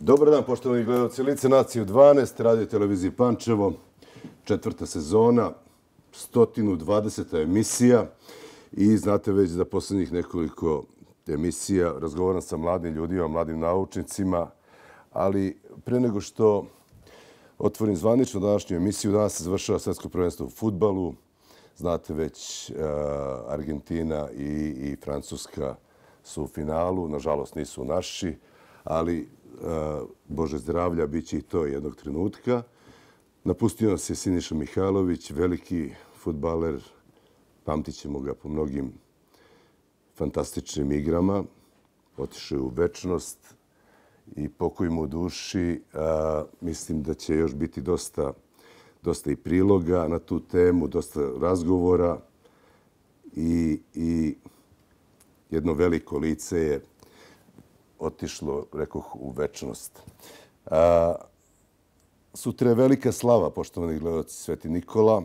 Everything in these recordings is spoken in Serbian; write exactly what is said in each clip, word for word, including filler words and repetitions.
Dobar dan, poštovani gledalci Lice nacije u dvanaest, radio televiziji Pančevo, četvrta sezona, sto dvadeseta emisija i znate već da poslednjih nekoliko emisija razgovaram sa mladim ljudima, mladim naučnicima, ali pre nego što otvorim zvanično današnju emisiju, danas se završava svetsko prvenstvo u fudbalu. Znate već, Argentina i, i Francuska su u finalu, nažalost nisu naši, ali Bože zdravlja, bit će i to jednog trenutka. Napustio nas je Siniša Mihajlović, veliki fudbaler, pamtit ćemo ga po mnogim fantastičnim igrama. Otišao je u večnost i pokoj mu u duši. Mislim da će još biti dosta, dosta i priloga na tu temu, dosta razgovora i, i jedno veliko lice je otišlo, rekoh, u večnost. A, sutra je velika slava, poštovani gledalci, Sveti Nikola.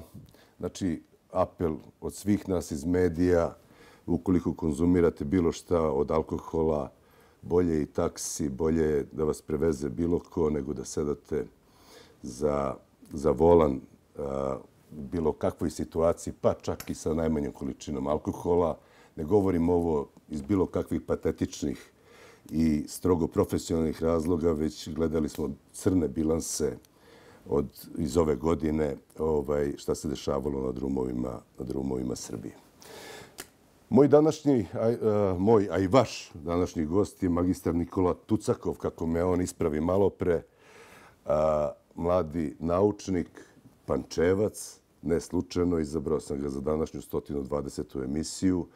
Znači, apel od svih nas iz medija, ukoliko konzumirate bilo šta od alkohola, bolje i taksi, bolje da vas preveze bilo ko nego da sedate za, za volan a, u bilo kakvoj situaciji, pa čak i sa najmanjom količinom alkohola. Ne govorim ovo iz bilo kakvih patetičnih i strogo profesionalnih razloga, već gledali smo crne bilanse od, iz ove godine ovaj, šta se dešavalo na drumovima, na drumovima Srbije. Moj današnji, a, a, moj, a i vaš današnji gost je magistar Nikola Tucakov, kako me on ispravi malo pre, a, mladi naučnik, Pančevac, ne slučajno, izabrao sam ga za današnju sto dvadesetu emisiju,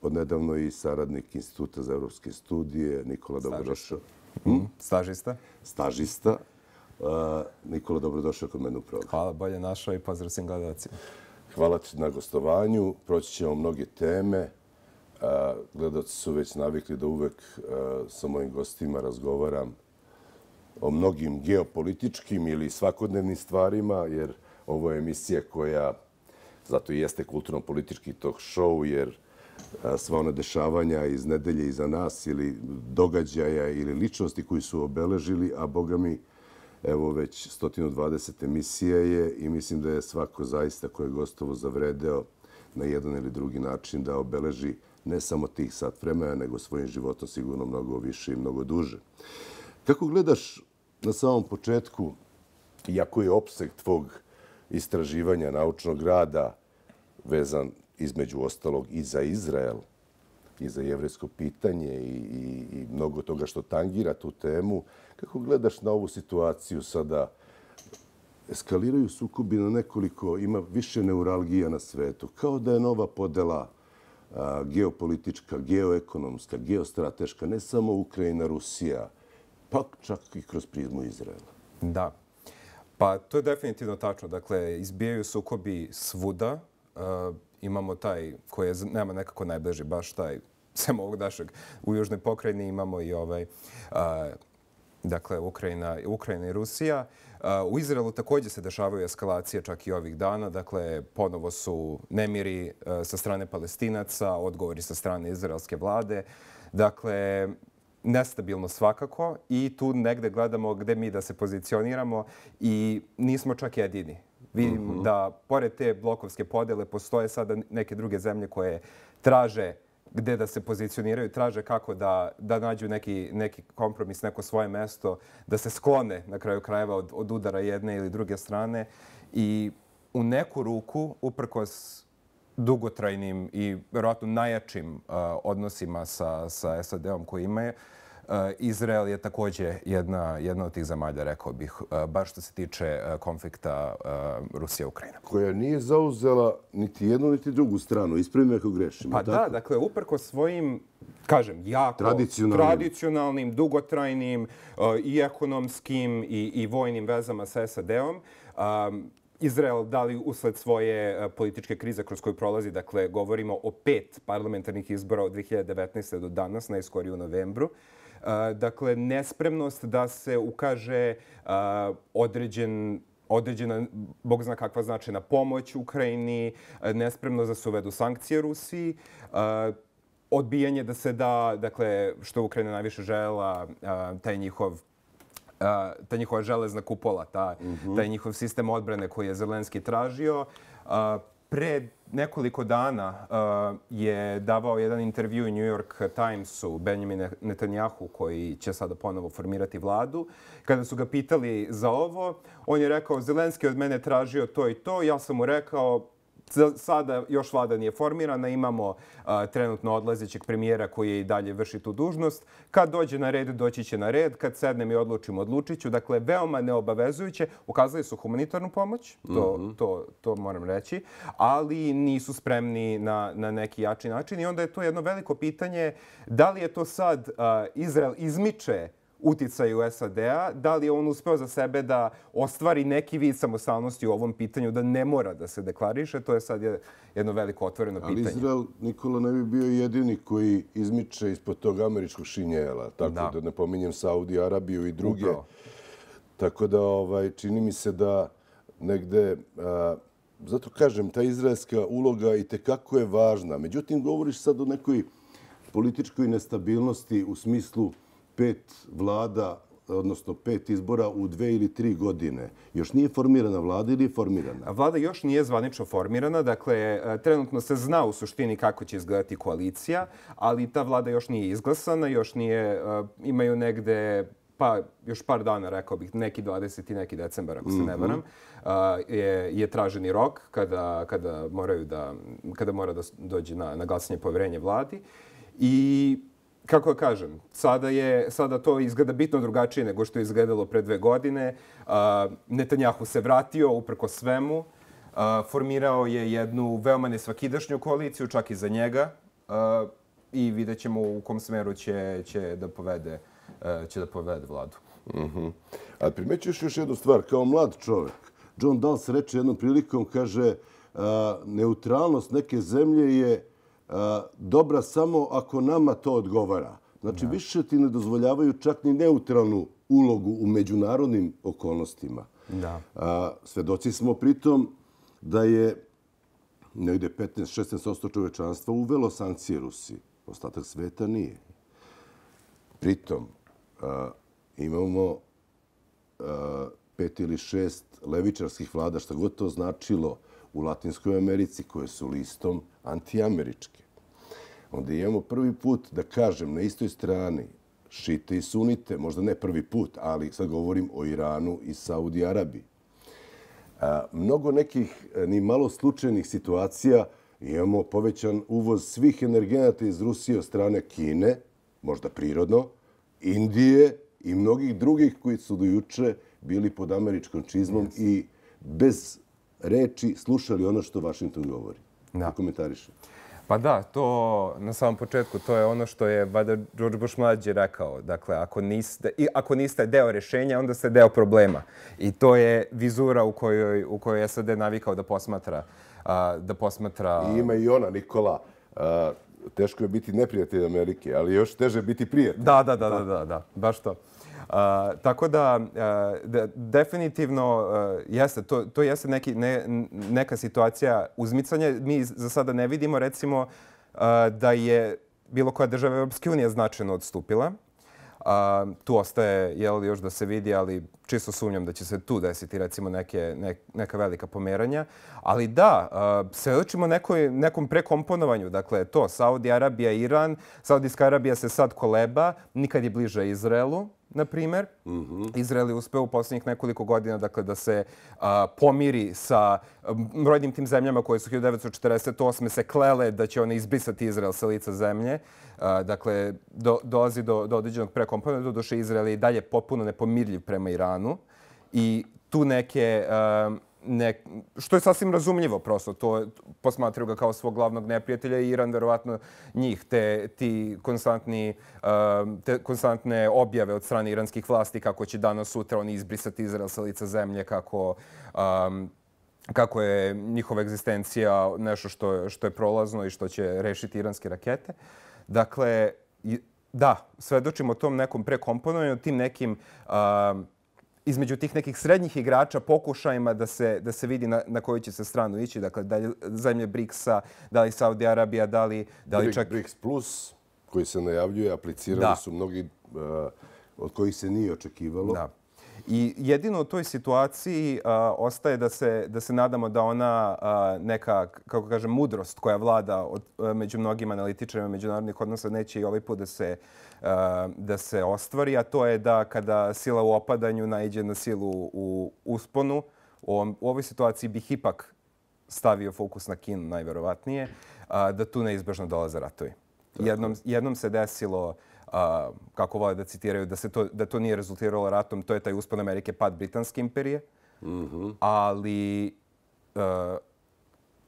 odnedavno i saradnik Instituta za evropske studije. Nikola, dobrodošao. Hm? Stažista. Stažista. Uh, Nikola, dobrodošao kod mene u program. Hvala, bolje našao i pozdrav svim gledalcima. Hvala ti na gostovanju. Proći ćemo mnoge teme. Uh, gledalci su već navikli da uvek uh, sa mojim gostima razgovaram o mnogim geopolitičkim ili svakodnevnim stvarima, jer ovo je emisija koja, zato i jeste kulturno-politički talk show, jer sva ona dešavanja iz nedelje iza nas ili događaja ili ličnosti koji su obeležili, a boga mi, evo već sto dvadeset emisija je i mislim da je svako zaista ko je gostovo zavredeo na jedan ili drugi način da obeleži ne samo tih sat vremena, nego svojim životom sigurno mnogo više i mnogo duže. Kako gledaš na samom početku, iako je opseg tvog istraživanja naučnog rada vezan između ostalog i za Izrael, i za jevrejsko pitanje i, i, i mnogo toga što tangira tu temu. Kako gledaš na ovu situaciju sada? Eskaliraju sukobi na nekoliko, ima više neuralgija na svetu. Kao da je nova podela a, geopolitička, geoekonomska, geostrateška, ne samo Ukrajina, Rusija, pa čak i kroz prizmu Izraela. Da. Pa to je definitivno tačno. Dakle, izbijaju sukobi svuda. Uh, imamo taj koji je nama nekako najbliži, baš taj, sem ovog našeg, u Južnoj pokrajini imamo i ovaj, uh, dakle, Ukrajina, Ukrajina i Rusija. Uh, u Izraelu također se dešavaju eskalacije čak i ovih dana. Dakle, ponovo su nemiri uh, sa strane Palestinaca, odgovori sa strane izraelske vlade. Dakle, nestabilno svakako i tu negde gledamo gde mi da se pozicioniramo i nismo čak jedini. Vidim uh-huh. da, pored te blokovske podele, postoje sada neke druge zemlje koje traže gde da se pozicioniraju, traže kako da, da nađu neki, neki kompromis, neko svoje mesto, da se sklone na kraju krajeva od, od udara jedne ili druge strane. I u neku ruku, uprkos dugotrajnim i vjerojatno najjačim uh, odnosima sa, sa S A D-om koji imaju, Uh, Izrael je također jedna, jedna od tih zemalja, rekao bih, uh, baš što se tiče uh, konflikta uh, Rusija-Ukrajina. Koja nije zauzela niti jednu, niti drugu stranu. Ispravi me ako grešim. Pa da, dakle, uprko svojim, kažem, jako tradicionalnim, tradicionalnim dugotrajnim uh, i ekonomskim i, i vojnim vezama sa S A D-om, um, Izrael, da li usled svoje političke krize kroz koju prolazi, dakle, govorimo o pet parlamentarnih izbora od dve hiljade devetnaeste. do danas, najskorije u novembru. Dakle, nespremnost da se ukaže određen, određena, bog zna kakva značajna pomoć Ukrajini, nespremnost da se uvedu sankcije Rusiji, odbijanje da se da, dakle, što Ukrajina najviše željela, taj njihov ta njihova železna kupola, ta, Mhm. taj njihov sistem odbrane koji je Zelenski tražio. A, Pre nekoliko dana uh, je davao jedan intervju u New York Timesu Benjamin Netanyahu, koji će sada ponovo formirati vladu. Kada su ga pitali za ovo, on je rekao, Zelenski od mene tražio to i to. Ja sam mu rekao, sada još vlada nije formirana, imamo uh, trenutno odlazećeg premijera koji i dalje vrši tu dužnost. Kad dođe na red, doći će na red. Kad sednem i odlučim, odlučit ću. Dakle, veoma neobavezujuće. Ukazali su humanitarnu pomoć, to, mm-hmm. to, to moram reći, ali nisu spremni na, na neki jači način. I onda je to jedno veliko pitanje, da li je to sad uh, Izrael izmiče uticaju S A D-a, da li je on uspeo za sebe da ostvari neki vid samostalnosti u ovom pitanju, da ne mora da se deklariše, to je sad jedno veliko otvoreno pitanje. Ali Izrael, Nikola, ne bi bio jedini koji izmiče ispod tog američkog šinjela, tako da, da ne pominjem Saudi Arabiju i druge. Upravo. Tako da ovaj, čini mi se da negde, a, zato kažem, ta izraelska uloga i tekako je važna. Međutim, govoriš sad o nekoj političkoj nestabilnosti u smislu pet vlada, odnosno pet izbora u dve ili tri godine. Još nije formirana vlada ili je formirana? Vlada još nije zvanično formirana. Dakle, trenutno se zna u suštini kako će izgledati koalicija, ali ta vlada još nije izglasana, još nije, imaju negde, pa još par dana, rekao bih, neki dvadeseti neki decembar, ako se ne varam, je, je traženi rok kada, kada, moraju da, kada mora da dođe na, na glasanje poverenja vladi. I kako kažem, sada, je, sada to izgleda bitno drugačije nego što je izgledalo pre dve godine. Uh, Netanyahu se vratio uprko svemu. Uh, formirao je jednu veoma nesvakidašnju koaliciju, čak i za njega. Uh, I vidjet ćemo u kom smeru će, će, da, povede, uh, će da povede vladu. Uh-huh. A primećuješ još jednu stvar. Kao mlad čovjek, John Dals reče jednom prilikom, kaže, uh, neutralnost neke zemlje je dobra samo ako nama to odgovara. Znači, da. Više ti ne dozvoljavaju čak ni neutralnu ulogu u međunarodnim okolnostima. Da. A, svedoci smo pritom da je negdje petnaest do šesnaest posto čovečanstva uvelo sankcije Rusiji. Ostatak sveta nije. Pritom, a, imamo a, pet ili šest levičarskih vlada, šta god to značilo, u Latinskoj Americi, koje su listom antiameričke. Onda imamo prvi put, da kažem, na istoj strani šite i sunite, možda ne prvi put, ali sad govorim o Iranu i Saudi Arabiji. A, mnogo nekih ni malo slučajnih situacija, imamo povećan uvoz svih energenata iz Rusije od strane Kine, možda prirodno, Indije i mnogih drugih koji su do juče bili pod američkom čizmom yes. i bez reči slušali ono što Washington govori. Da. Komentariše. Pa da, to na samom početku, to je ono što je vada George Bush mlađi rekao. Dakle, ako niste, i ako niste deo rješenja, onda ste deo problema. I to je vizura u kojoj, u kojoj S A D navikao da posmatra. A, da posmatra... I ima i ona, Nikola. A, teško je biti neprijatelj Amerike, ali još teže biti prijatelj. Da, da, da, da, da, da, baš to. Uh, tako da, uh, da definitivno uh, jeste, to, to jeste neki, ne, neka situacija uzmicanja. Mi za sada ne vidimo, recimo, uh, da je bilo koja država Europske unije značajno odstupila. Uh, tu ostaje, jel, još da se vidi, ali čisto sumnjam da će se tu desiti, recimo, neke, ne, neka velika pomeranja. Ali da, uh, svedočimo nekoj, nekom prekomponovanju. Dakle, to, Saudi Arabija, Iran. Saudijska Arabija se sad koleba, nikad je bliže Izraelu, na primjer. Mm-hmm. Izrael je uspeo u posljednjih nekoliko godina dakle, da se a, pomiri sa brojnim tim zemljama koje su hiljadu devetsto četrdeset osme se klele da će one izbrisati Izrael sa lica zemlje. A, dakle, do, dolazi do, do određenog prekomponenta. Doduše, Izrael je i dalje potpuno nepomirljiv prema Iranu. I tu neke... A, Ne, što je sasvim razumljivo prosto. To posmatraju ga kao svog glavnog neprijatelja i Iran verovatno njih. Te, ti konstantni, te konstantne objave od strane iranskih vlasti kako će danas sutra oni izbrisati Izrael sa lica zemlje, kako, um, kako je njihova egzistencija nešto što, što je prolazno i što će rešiti iranske rakete. Dakle, da, svedočimo tom nekom prekomponovanju, tim nekim... Um, između tih nekih srednjih igrača pokušajima da se, da se vidi na, na koju će se stranu ići. Dakle, da li zemlje briksa, da li Saudi Arabija, da li, da li čak... BRICS Plus, koji se najavljuje, aplicirali da. su mnogi uh, od kojih se nije očekivalo. Da. I jedino u toj situaciji a, ostaje da se, da se nadamo da ona a, neka, kako kažem, mudrost koja vlada od, a, među mnogim analitičarima međunarodnih odnosa neće i ovaj put da se, a, da se ostvari, a to je da kada sila u opadanju naiđe na silu u usponu, u, ovom, u ovoj situaciji bih ipak stavio fokus na Kinu najverovatnije, a, da tu neizbežno dolaze ratovi. Jednom, jednom se desilo, a, kako vole da citiraju, da, se to, da to nije rezultiralo ratom, to je taj uspon Amerike, pad Britanske imperije. Mm-hmm. Ali a,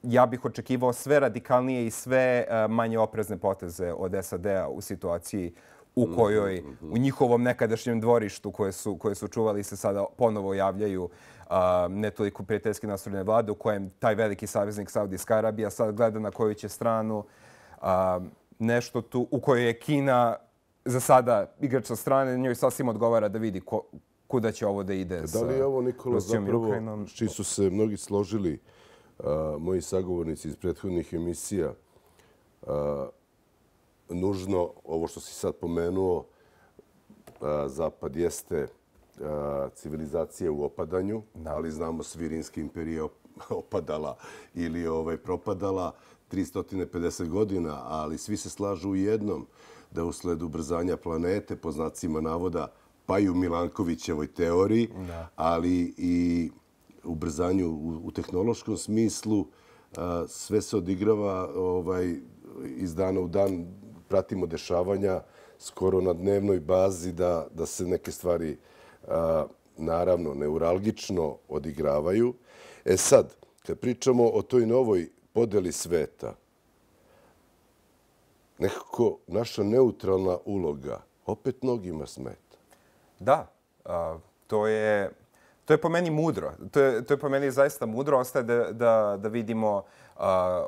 ja bih očekivao sve radikalnije i sve a, manje oprezne poteze od S A D-a u situaciji u kojoj, mm-hmm. u njihovom nekadašnjem dvorištu koje su, koje su čuvali se sada ponovo javljaju a, ne toliko prijateljski nastrojene vlade, u kojem taj veliki saveznik Saudijska Arabija sad gleda na koju će stranu. A, nešto tu u kojoj je Kina za sada igrač sa strane, njoj sasvim odgovara da vidi ko, kuda će ovo da ide. Da li je ovo, Nikola, zapravo, s čim su se mnogi složili, a, moji sagovornici iz prethodnih emisija, a, nužno, ovo što si sad pomenuo, a, Zapad jeste a, civilizacija u opadanju, da. Ali znamo svi Rimska imperija opadala ili ovaj, propadala tristo pedeset godina, ali svi se slažu u jednom, da usled ubrzanja planete, po znacima navoda, pa i u Milankovićevoj teoriji, da. Ali i ubrzanju u, u tehnološkom smislu, a, sve se odigrava ovaj, iz dana u dan, pratimo dešavanja skoro na dnevnoj bazi da, da se neke stvari a, naravno neuralgično odigravaju. E sad, kad pričamo o toj novoj podeli sveta, nekako naša neutralna uloga opet mnogima smeta. Da, a, to je to je po meni mudro. To je, to je po meni zaista mudro. Ostaje da, da, da vidimo a,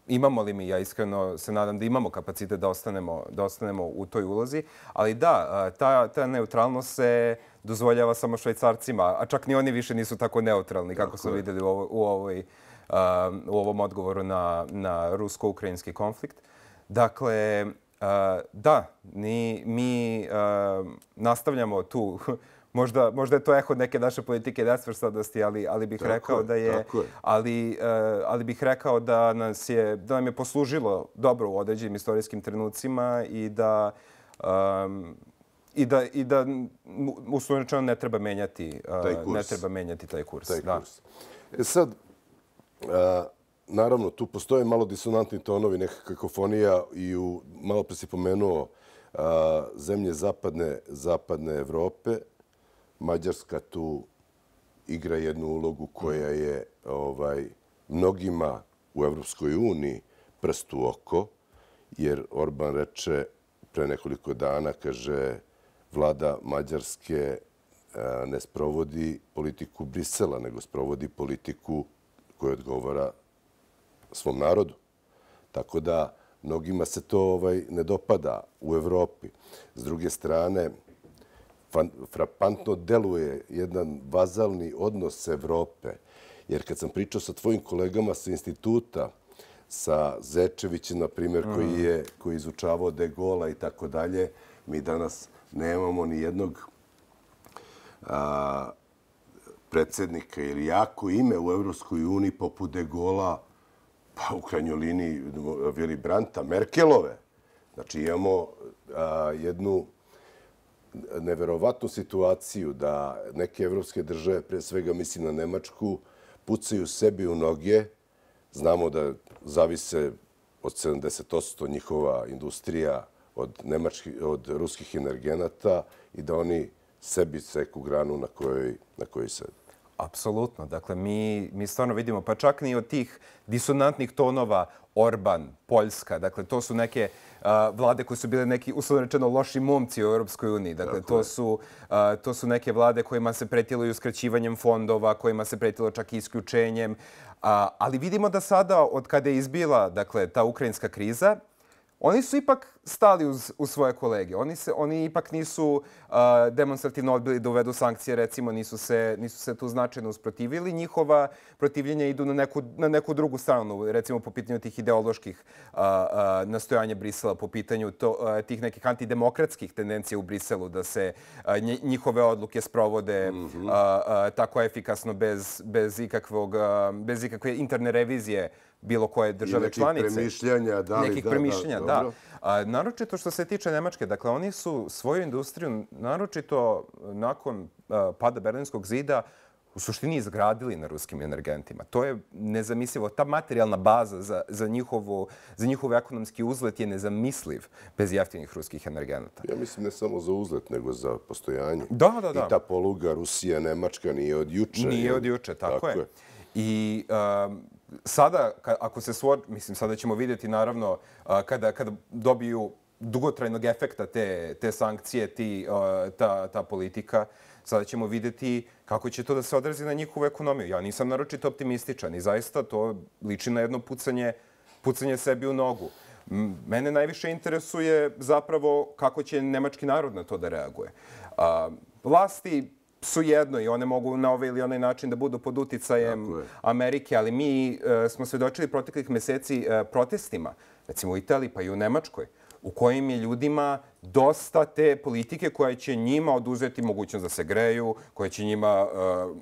imamo li mi, ja iskreno se nadam da imamo kapacitet da ostanemo, da ostanemo u toj ulozi. Ali da, ta, ta neutralnost se dozvoljava samo Švajcarcima, a čak ni oni više nisu tako neutralni kako smo vidjeli u, ovo, u, ovoj, a, u ovom odgovoru na, na rusko-ukrajinski konflikt. Dakle, uh, da, ni, mi uh, nastavljamo tu. možda, možda je to eho neke naše politike nesvrstanosti, ali, ali bih tako rekao da je, je. Ali, uh, ali bih rekao da nas je, da nam je poslužilo dobro u određenim istorijskim trenucima i da um, i da i da uslovno rečeno ne treba menjati uh, ne treba menjati taj kurs. Taj da. kurs. E sad, uh, naravno, tu postoje malo disonantni tonovi, neka kakofonija i u, malo pre si pomenuo a, zemlje zapadne, zapadne Evrope. Mađarska tu igra jednu ulogu koja je ovaj, mnogima u Evropskoj uniji prst u oko, jer Orban reče pre nekoliko dana, kaže, vlada Mađarske a, ne sprovodi politiku Brisela, nego sprovodi politiku koja odgovara svom narodu. Tako da mnogima se to ovaj, ne dopada u Evropi. S druge strane, fan, frapantno deluje jedan vazalni odnos Evrope. Jer kad sam pričao sa tvojim kolegama sa instituta, sa Zečevićem, na primjer, koji je koji izučavao De Gola i tako dalje, mi danas nemamo ni jednog a, predsjednika ili jako ime u Evropskoj uniji poput De Gola, pa u krajnjoj liniji Willy Brandta, Merkelove. Znači imamo a, jednu neverovatnu situaciju da neke evropske države, pre svega mislim na Nemačku, pucaju sebi u noge. Znamo da zavise od sedamdeset posto njihova industrija od, nemačkih, od ruskih energenata i da oni sebi seku granu na kojoj, na kojoj sede. Apsolutno. Dakle, mi, mi stvarno vidimo, pa čak ni od tih disonantnih tonova Orban, Poljska, dakle, to su neke uh, vlade koje su bile neki, uslovno rečeno, loši momci u Europskoj uniji. Dakle, to su, uh, to su neke vlade kojima se pretilo i uskraćivanjem fondova, kojima se pretilo čak i isključenjem. Uh, ali vidimo da sada, od kada je izbila dakle, ta ukrajinska kriza, oni su ipak stali uz, uz svoje kolege. Oni, se, oni ipak nisu uh, demonstrativno odbili da uvedu sankcije, recimo, nisu se, nisu se tu značajno usprotivili. Njihova protivljenja idu na neku, na neku drugu stranu, recimo po pitanju tih ideoloških uh, uh, nastojanja Brisela, po pitanju to, uh, tih nekih antidemokratskih tendencija u Briselu, da se uh, njihove odluke sprovode mm-hmm. uh, uh, tako efikasno bez, bez, ikakvog, uh, bez ikakve interne revizije bilo koje države članice. Nekih premišljanja, da li, nekih da, premišljanja, da. da. A, naročito što se tiče Nemačke, dakle, oni su svoju industriju, naročito nakon a, pada Berlinskog zida, u suštini izgradili na ruskim energentima. To je nezamislivo. Ta materijalna baza za, za, njihovu, za njihov ekonomski uzlet je nezamisliv bez jeftinih ruskih energenata. Ja mislim ne samo za uzlet, nego za postojanje. Da, da, da. I ta poluga Rusija, Nemačka nije od juče. Nije od juče, tako, tako je. je. I um, sada, ako se svor... Mislim, sada ćemo vidjeti, naravno, uh, kada, kada dobiju dugotrajnog efekta te, te sankcije, ti, uh, ta, ta politika, sada ćemo vidjeti kako će to da se odrazi na njihovu ekonomiju. Ja nisam naročito optimističan i zaista to liči na jedno pucanje, pucanje sebi u nogu. Mene najviše interesuje zapravo kako će nemački narod na to da reaguje. Uh, vlasti su jedno i one mogu na ovaj ili onaj način da budu pod uticajem Amerike, ali mi uh, smo svedočili proteklih meseci uh, protestima, recimo u Italiji pa i u Nemačkoj, u kojim je ljudima dosta te politike koja će njima oduzeti mogućnost da se greju, koja će njima uh,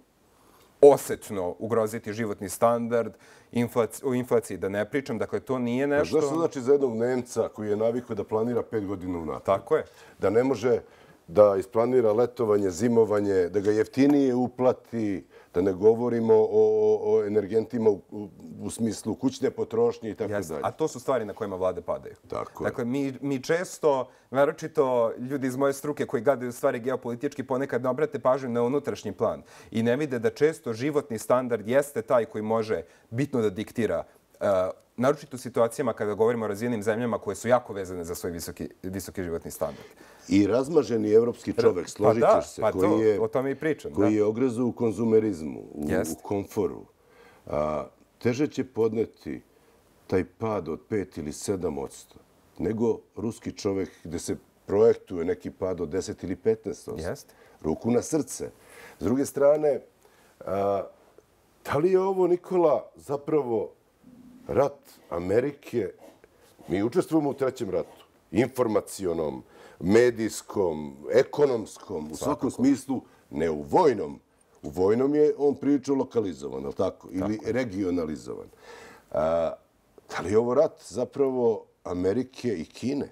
osetno ugroziti životni standard, inflaci, o inflaciji da ne pričam. Dakle, to nije nešto... Znaš što znači za jednog Nemca koji je navikao da planira pet godina unapred? Tako je. Da ne može da isplanira letovanje, zimovanje, da ga jeftinije uplati, da ne govorimo o, o, o energentima u, u, u smislu kućne potrošnje i tako Jasne. dalje. A to su stvari na kojima vlade padaju. Tako dakle, mi, mi često, naročito ljudi iz moje struke koji gledaju stvari geopolitički, ponekad ne obrate pažnju na unutrašnji plan i ne vide da često životni standard jeste taj koji može bitno da diktira uh, naročito u situacijama kada govorimo o razvijenim zemljama koje su jako vezane za svoj visoki, visoki životni standard. I razmaženi evropski čovek, složit ćeš pa da, se, pa koji, to, je, o tome i pričam, koji da. je ogrezu u konzumerizmu, u, u komforu, a, teže će podneti taj pad od pet ili sedam odsto nego ruski čovek gde se projektuje neki pad od deset ili petnaest odsto. Jest. Ruku na srce. S druge strane, a, da li je ovo, Nikola, zapravo rat Amerike? Mi učestvujemo u trećem ratu. Informacionom, medijskom, ekonomskom, u svakom smislu, ne u vojnom. U vojnom je on prilično lokalizovan, ali tako? Ili tako regionalizovan. A, da li je ovo rat zapravo Amerike i Kine?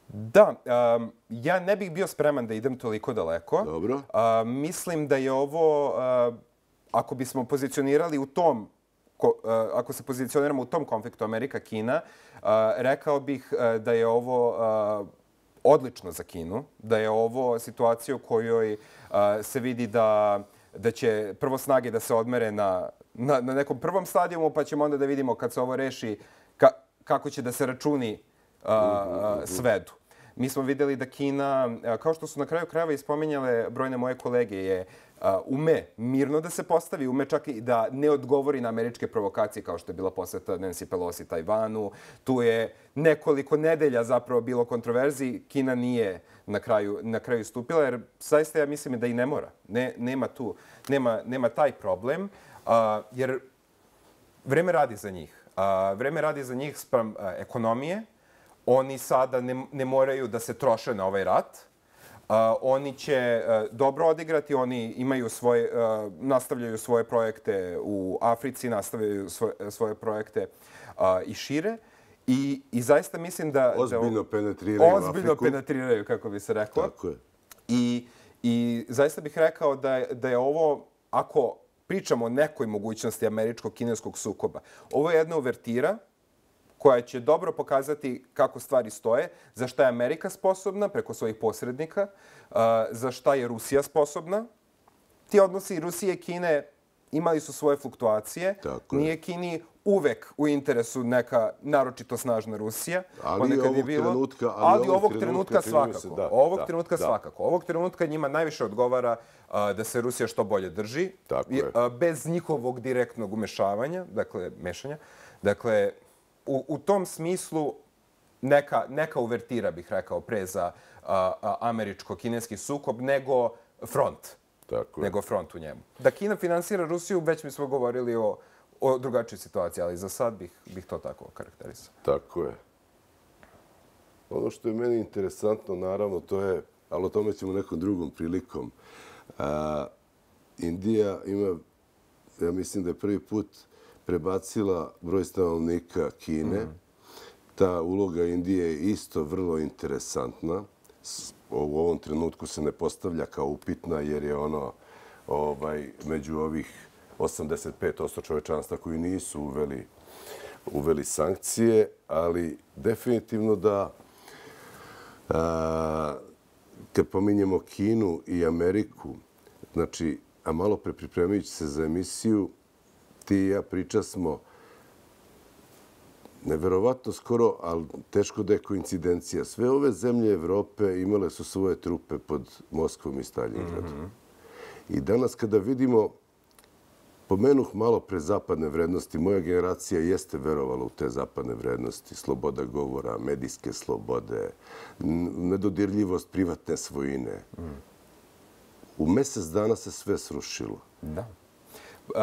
Da, um, ja ne bih bio spreman da idem toliko daleko. Dobro. Uh, mislim da je ovo, uh, ako bismo pozicionirali u tom, ko, uh, ako se pozicioniramo u tom konfliktu Amerika-Kina, uh, rekao bih uh, da je ovo uh, odlično za Kinu, da je ovo situacija u kojoj uh, se vidi da, da će prvo snage da se odmere na, na, na nekom prvom stadijumu, pa ćemo onda da vidimo kad se ovo reši ka, kako će da se računi uh, uh, svedu. Mi smo vidjeli da Kina, kao što su na kraju krajeva ispominjale brojne moje kolege, je ume mirno da se postavi, ume čak i da ne odgovori na američke provokacije kao što je bila posjeta Nancy Pelosi Tajvanu. Tu je nekoliko nedelja zapravo bilo kontroverziji. Kina nije na kraju, na kraju stupila, jer zaista ja mislim da i ne mora. Ne, nema tu, nema, nema taj problem, a, jer vreme radi za njih. A, vreme radi za njih sprem a, ekonomije. Oni sada ne, ne moraju da se troše na ovaj rat. Uh, oni će uh, dobro odigrati, oni imaju svoje, uh, nastavljaju svoje projekte u Africi, nastavljaju svoje, svoje projekte uh, i šire. I, I zaista mislim da... Ozbiljno da, penetriraju ozbiljno Afriku. penetriraju, kako bi se reklo. Tako je. I, i zaista bih rekao da, da je ovo, ako pričamo o nekoj mogućnosti američko-kineskog sukoba, ovo je jedna uvertira koja će dobro pokazati kako stvari stoje, za šta je Amerika sposobna preko svojih posrednika, za šta je Rusija sposobna. Ti odnosi Rusije i Kine imali su svoje fluktuacije. Tako Nije Kini uvek u interesu neka naročito snažna Rusija. Ali ovog je bilo, trenutka, ali, ali ovog, ovog trenutka, trenutka svakako. Se, da, ovog da, trenutka da. svakako. Ovog trenutka njima najviše odgovara a, da se Rusija što bolje drži. Tako I, a, bez njihovog direktnog umešavanja, dakle, mešanja. Dakle, U, u tom smislu neka, neka uvertira, bih rekao, pre za američko-kineski sukob, nego front. Tako je. Nego front u njemu. Da Kina finansira Rusiju, već mi smo govorili o, o drugačoj situaciji, ali za sad bih, bih to tako karakterisao. Tako je. Ono što je meni interesantno, naravno, to je, ali o tome ćemo nekom drugom prilikom. A, Indija ima, ja mislim da je prvi put prebacila broj stanovnika Kine. Mm. Ta uloga Indije je isto vrlo interesantna. U ovom trenutku se ne postavlja kao upitna jer je ono ovaj, među ovih osamdeset pet posto čovečanstva koji nisu uveli, uveli sankcije, ali definitivno da a, kad pominjemo Kinu i Ameriku, znači, a malo pre pripremajući se za emisiju, ti i ja priča smo neverovatno skoro, ali teško da je koincidencija. Sve ove zemlje Evrope imale su svoje trupe pod Moskvom i Staljingradom. Mm -hmm. I danas kada vidimo, pomenuh malo pre zapadne vrednosti, moja generacija jeste verovala u te zapadne vrednosti, sloboda govora, medijske slobode, nedodirljivost privatne svojine. Mm. U mesec dana se sve srušilo. Da. Uh,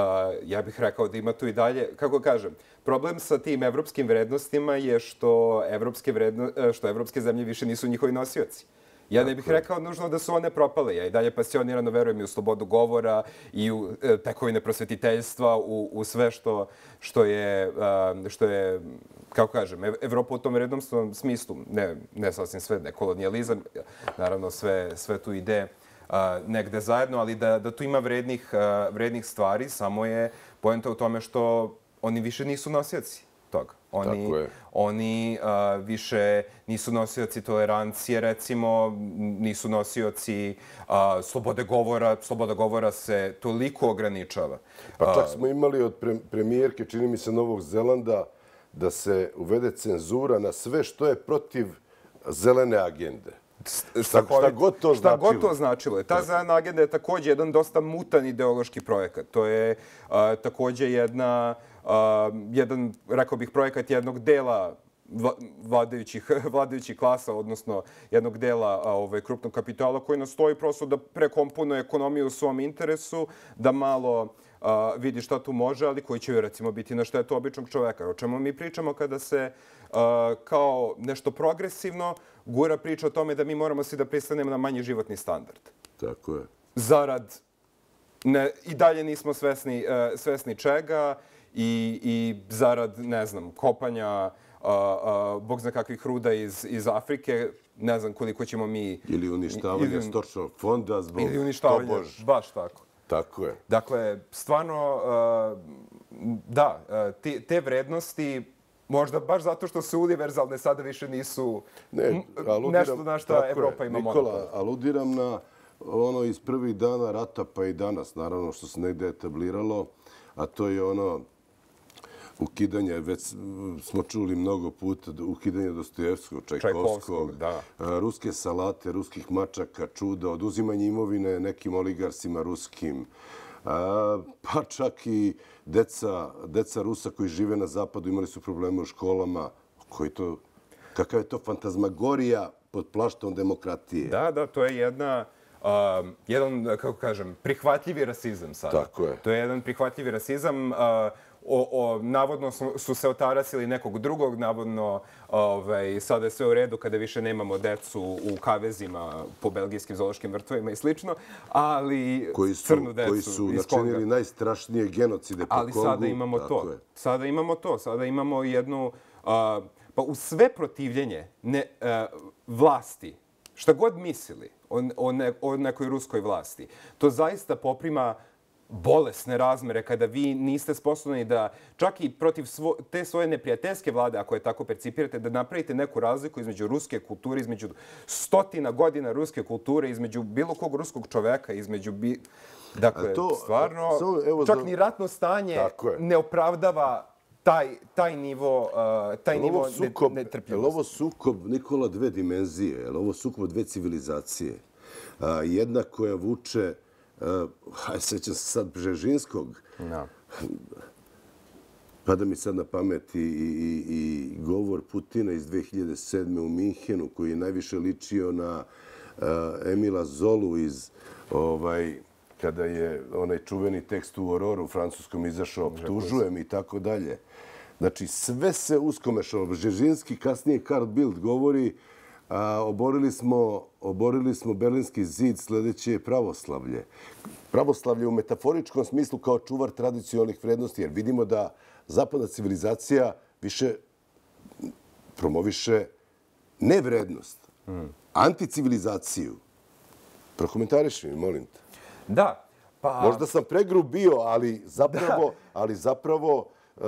ja bih rekao da ima tu i dalje, kako kažem, problem sa tim evropskim vrednostima je što evropske, vredno, što evropske zemlje više nisu njihovi nosioci. Ja ne bih rekao nužno da su one propale. Ja i dalje pasionirano verujem i u slobodu govora i u e, tekovine prosvetiteljstva, u, u sve što, što, je, a, što je, kako kažem, Evropa u tom vrednostnom smislu, ne, ne sasvim sve, ne kolonijalizam, naravno sve, sve tu ide a, negde zajedno, ali da, da tu ima vrednih, a, vrednih stvari, samo je poenta u tome što oni više nisu nosioci toga. Oni, oni uh, više nisu nosioci tolerancije, recimo, nisu nosioci uh, slobode govora. Sloboda govora se toliko ograničava. Pa čak smo imali od pre premijerke, čini mi se, Novog Zelanda, da se uvede cenzura na sve što je protiv zelene agende. Šta, šta god to šta značilo. God to značilo. Ta zelena agenda je također jedan dosta mutan ideološki projekat. To je uh, također jedna... Uh, jedan, rekao bih, projekat jednog dela vladajućih, vladajućih klasa, odnosno jednog dela ovaj, krupnog kapitala koji nastoji prosto da prekomponuje ekonomiju u svom interesu, da malo uh, vidi šta tu može, ali koji će, recimo, biti na štetu običnog čoveka. O čemu mi pričamo kada se uh, kao nešto progresivno gura priča o tome da mi moramo svi da pristanemo na manji životni standard. Tako je. Zarad ne, i dalje nismo svesni, uh, svesni čega, I, i zarad, ne znam, kopanja a, a, bog zna kakvih ruda iz, iz Afrike, ne znam koliko ćemo mi... Ili uništavanje ili, stočnog fonda zbog ili uništavanje, tobož. Baš tako. Tako je. Dakle, stvarno, a, da, a, te, te vrednosti, možda baš zato što su univerzalne, sada više nisu ne, aludiram, nešto na što Evropa ima monopol. Nikola, aludiram na ono iz prvih dana rata pa i danas, naravno što se negde etabliralo, a to je ono ukidanje, već smo čuli mnogo puta, ukidanje Dostojevskog, Čajkovskog, da. Ruske salate, ruskih mačaka, čuda, oduzimanje imovine nekim oligarsima ruskim, pa čak i deca, deca Rusa koji žive na zapadu imali su probleme u školama. Koji to, kakav je to fantazmagorija pod plaštom demokratije? Da, da, to je jedna... Uh, jedan, kako kažem, prihvatljivi rasizam sada. Tako je. To je jedan prihvatljivi rasizam. Uh, o, o, navodno su, su se otarasili nekog drugog, navodno ovaj, sada je sve u redu kada više nemamo decu u kavezima po belgijskim zoološkim vrtovima i slično, ali koji su, crnu decu koji su načinili najstrašnije genocide po ali Kongu. Ali sada imamo to. Je. Sada imamo to. Sada imamo jednu... Uh, pa u sve protivljenje ne, uh, vlasti, šta god mislili o, o, ne, o nekoj ruskoj vlasti, to zaista poprima bolesne razmere kada vi niste sposobni da čak i protiv svo, te svoje neprijateljske vlade, ako je tako percipirate, da napravite neku razliku između ruske kulture, između stotina godina ruske kulture, između bilo kog ruskog čoveka, između... Bi... Dakle, to, stvarno, so, evo, čak za... ni ratno stanje ne opravdava taj, taj nivo, uh, taj nivo sukob, netrpljivosti. Je li ovo sukob, Nikola, dve dimenzije? Je li ovo sukob dve civilizacije? Uh, jedna koja vuče, uh, sećam se sad Bžežinskog, no. pada mi sad na pamet i, i, i govor Putina iz dve hiljade sedme u Minhenu, koji je najviše ličio na uh, Emila Zolu iz, ovaj, kada je onaj čuveni tekst u Ororu u francuskom izašao, optužujem i tako dalje. Znači, sve se uskomešalo. Bžežinski, kasnije Karl Bildt govori a, oborili, smo, oborili smo Berlinski zid, sljedeće je pravoslavlje. Pravoslavlje u metaforičkom smislu kao čuvar tradicionalnih vrednosti, jer vidimo da zapadna civilizacija više promoviše ne vrednost, mm. anticivilizaciju. Prokomentariši mi, molim te. Da. Pa... Možda sam pregrub bio, ali zapravo, ali zapravo uh,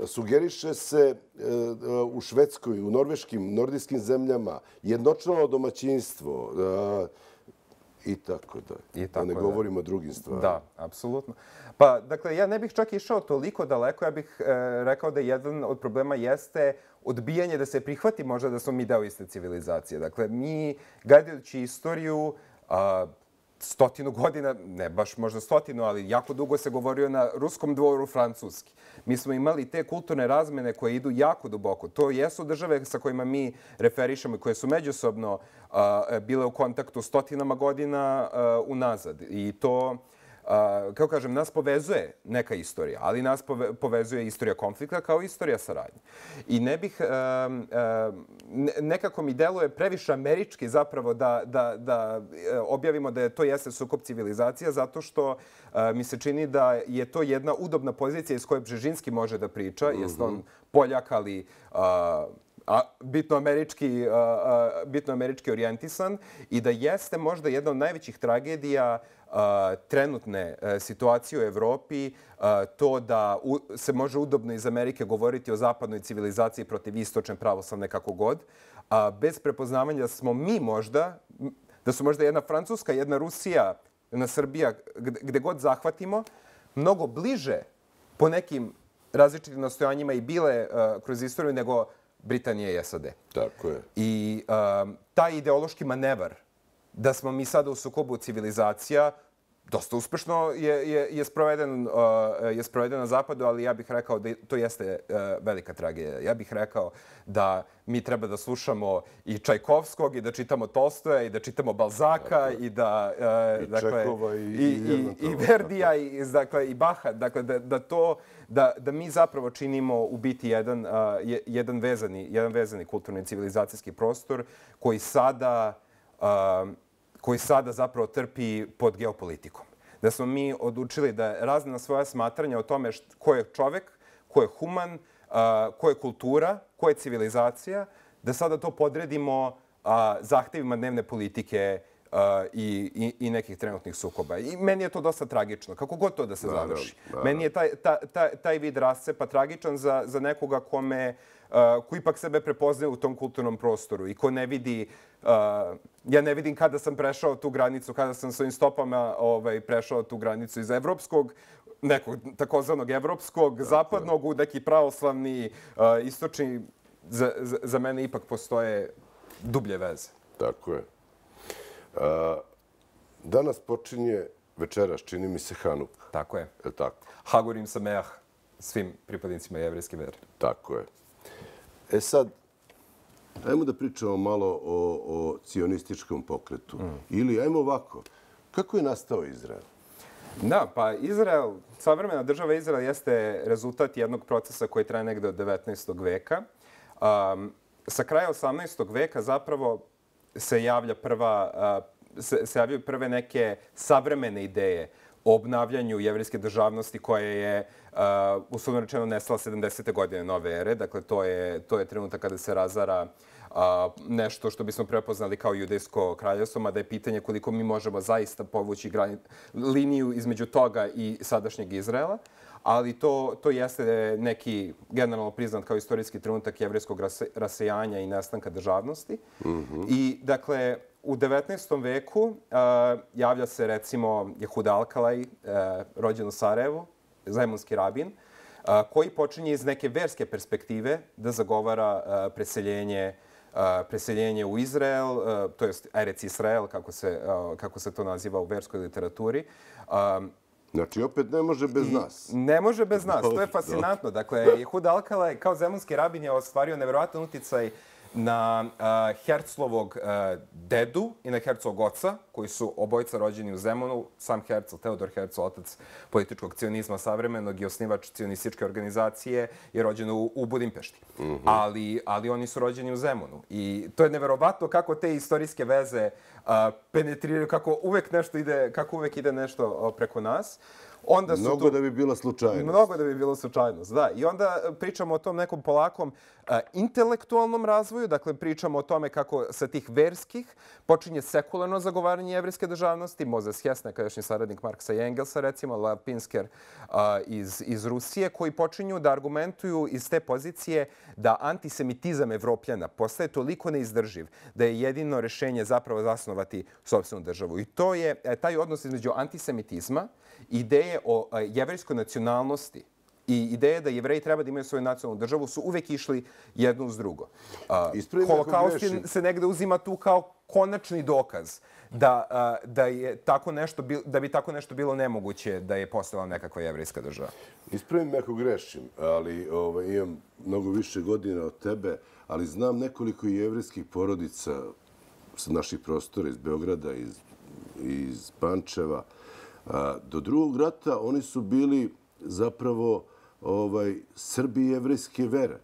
sugeriše se uh, u Švedskoj, u norveškim, nordijskim zemljama jednočlano domaćinstvo uh, i tako da. I tako da ne govorimo o drugim stvarima. Da, apsolutno. Pa, dakle, ja ne bih čak išao toliko daleko. Ja bih e, rekao da jedan od problema jeste odbijanje da se prihvati možda da smo mi deo iste civilizacije. Dakle, mi, gledajući istoriju, a, stotinu godina, ne baš možda stotinu, ali jako dugo se govorio na ruskom dvoru francuski. Mi smo imali te kulturne razmene koje idu jako duboko. To jesu države sa kojima mi referišemo i koje su međusobno a, bile u kontaktu stotinama godina a, unazad. I to, a, kako kažem, nas povezuje neka istorija, ali nas pove, povezuje istorija konflikta kao istorija saradnje. I ne bih, a, a, nekako mi deluje previše američki zapravo da, da, da objavimo da je to jeste sukob civilizacija, zato što a, mi se čini da je to jedna udobna pozicija iz koje Bžežinski može da priča. Mm-hmm. Jeste on Poljak, ali a, a, bitno, američki, a, a, bitno američki orijentisan i da jeste možda jedna od najvećih tragedija a, trenutne a, situacije u Evropi, a, to da u, se može udobno iz Amerike govoriti o zapadnoj civilizaciji protiv istočne pravoslavne kako god, a bez prepoznavanja da smo mi možda, da su možda jedna Francuska, jedna Rusija, jedna Srbija, gde, gde god zahvatimo, mnogo bliže po nekim različitim nastojanjima i bile uh, kroz istoriju nego Britanije i S A D. Tako je. I uh, taj ideološki manevar da smo mi sada u sukobu civilizacija dosta uspešno je, je, je, sproveden, uh, je sproveden na zapadu, ali ja bih rekao da to jeste uh, velika tragedija. Ja bih rekao da mi treba da slušamo i Čajkovskog, i da čitamo Tolstoja, i da čitamo Balzaka, dakle, i da... Uh, i dakle, Čekova, i, i, i, i Verdija, i, dakle, i Baha. Dakle, da, da, to, da, da mi zapravo činimo u biti jedan, uh, jedan, vezani, jedan vezani kulturni civilizacijski prostor koji sada... Uh, koji sada zapravo trpi pod geopolitikom. Da smo mi odlučili da razne svoja smatranja o tome št, ko je čovek, ko je human, uh, ko je kultura, ko je civilizacija, da sada to podredimo uh, zahtevima dnevne politike uh, i, i, i nekih trenutnih sukoba. I meni je to dosta tragično, kako god to da se završi. Da, da, da. Meni je taj, ta, ta, taj vid rascepa tragičan za, za nekoga kome Uh, ko ipak sebe prepoznaje u tom kulturnom prostoru i ko ne vidi, uh, ja ne vidim kada sam prešao tu granicu, kada sam svojim stopama ovaj, prešao tu granicu iz evropskog, nekog takozvanog evropskog, dakle, zapadnog, u neki pravoslavni, uh, istočni, za, za, za mene ipak postoje dublje veze. Tako je. Uh, danas počinje večeras, čini mi se, Hanuk. Tako je. Je tako? Hagurim Sameah svim pripadnicima jevrejske vere. Tako je. E sad, ajmo da pričamo malo o, o cionističkom pokretu. Mm. Ili, ajmo ovako, kako je nastao Izrael? Da, pa Izrael, savremena država Izrael jeste rezultat jednog procesa koji traje negde od devetnaestog veka. Um, sa kraja osamnaestog veka zapravo se javlja prva, uh, se, se javljaju prve neke savremene ideje o obnavljanju jevrejske državnosti koja je, uh, uslovno rečeno, nestala sedamdesete godine nove ere. Dakle, to je, to je trenutak kada se razara uh, nešto što bismo prepoznali kao judejsko kraljevstvo, mada je pitanje koliko mi možemo zaista povući grani, liniju između toga i sadašnjeg Izraela. Ali to, to jeste neki generalno priznat kao istorijski trenutak jevrejskog rase, rasejanja i nestanka državnosti. Mm-hmm. I, dakle, u devetnaestom veku uh, javlja se, recimo, Jehuda Alkalaj, uh, rođen u Sarajevu, zajmunski rabin, uh, koji počinje iz neke verske perspektive da zagovara uh, preseljenje, uh, preseljenje u Izrael, uh, to jest Erec Israel, kako se, uh, kako se to naziva u verskoj literaturi. Um, Znači, opet ne može bez nas. Ne može bez nas, to je fascinantno. Dakle, Jehud Alkala kao zemunski rabin je ostvario neverovatan uticaj na uh, Herzlovog uh, dedu i na Herzlovog oca, koji su obojica rođeni u Zemunu. Sam Herzl, Teodor Herzl, otac političkog cionizma savremenog i osnivač cionističke organizacije, je rođen u, u Budimpešti. Mm-hmm. ali, ali oni su rođeni u Zemunu. I to je neverovatno kako te istorijske veze uh, penetriraju, kako uvek nešto ide, kako uvek ide nešto preko nas. Onda su mnogo tu, da bi bila slučajnost. Mnogo da bi bilo slučajnost, da. I onda pričamo o tom nekom polakom a, intelektualnom razvoju, dakle pričamo o tome kako sa tih verskih počinje sekularno zagovaranje jevrijske državnosti. Mozes Hess, nekadašnji saradnik Marksa i Engelsa, recimo, Lev Pinsker a, iz, iz Rusije, koji počinju da argumentuju iz te pozicije da antisemitizam Evropljana postaje toliko neizdrživ da je jedino rešenje zapravo zasnovati sopstvenu državu. I to je taj odnos između antisemitizma, ideje o jevrejskoj nacionalnosti i ideje da Jevreji treba da imaju svoju nacionalnu državu su uvek išli jedno uz drugo. Holokaust se negde uzima tu kao konačni dokaz da, da, je tako nešto, da bi tako nešto bilo nemoguće da je postojala nekakva jevrejska država. Ispravim me ako grešim, ali ovaj, imam mnogo više godina od tebe, ali znam nekoliko jevrejskih porodica sa naših prostora, iz Beograda, iz, iz Pančeva. Do drugog rata oni su bili zapravo ovaj, Srbi jevrejske vere.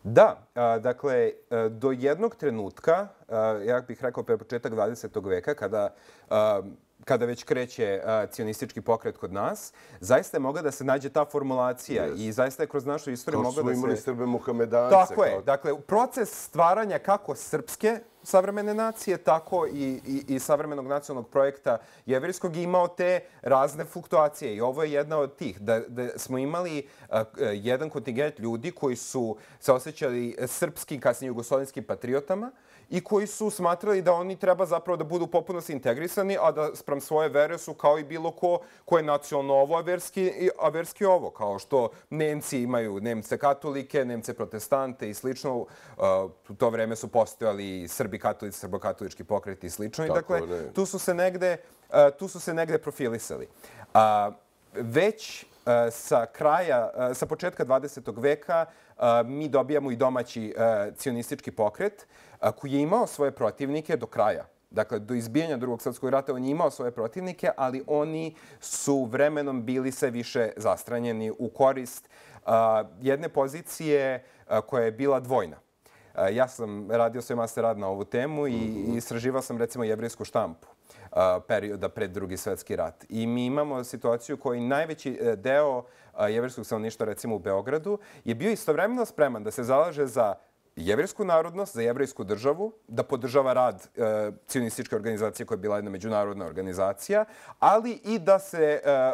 Da, a, dakle, a, do jednog trenutka, a, ja bih rekao pre početak dvadesetog veka, kada, a, kada već kreće a, cionistički pokret kod nas, zaista je mogla da se nađe ta formulacija yes. i zaista je kroz našu istoriju mogla da se... Kao su imali Srbe Muhamedance. Tako kao... je. Dakle, proces stvaranja kako srpske savremene nacije, tako i, i, i savremenog nacionalnog projekta jevrijskog je imao te razne fluktuacije. I ovo je jedna od tih. Da, da smo imali uh, jedan kontingent ljudi koji su se osjećali srpskim, kasnije jugoslovenskim patriotama i koji su smatrali da oni treba zapravo da budu potpuno integrisani, a da sprem svoje vere su kao i bilo ko ko je nacionalno ovo, a verski, a verski ovo. Kao što Nemci imaju Nemce katolike, Nemce protestante i slično. Uh, u to vreme su postojali Srbi katolici, srbokatolički pokreti i slično. I dakle, ne. tu su se negde, uh, tu su se negde profilisali. Uh, već uh, sa kraja, uh, sa početka dvadesetog veka uh, mi dobijamo i domaći uh, cionistički pokret uh, koji je imao svoje protivnike do kraja. Dakle, do izbijanja Drugog svjetskog rata on je imao svoje protivnike, ali oni su vremenom bili sve više zastranjeni u korist uh, jedne pozicije uh, koja je bila dvojna. Uh, ja sam radio svoj master rad na ovu temu i mm-hmm. istraživao sam recimo jevrejsku štampu uh, perioda pred Drugi svjetski rat. I mi imamo situaciju koji najveći deo uh, jevrejskog stanovništva recimo u Beogradu je bio istovremeno spreman da se zalaže za jevrejsku narodnost, za jevrejsku državu, da podržava rad e, cionističke organizacije koja je bila jedna međunarodna organizacija, ali i da se e, e,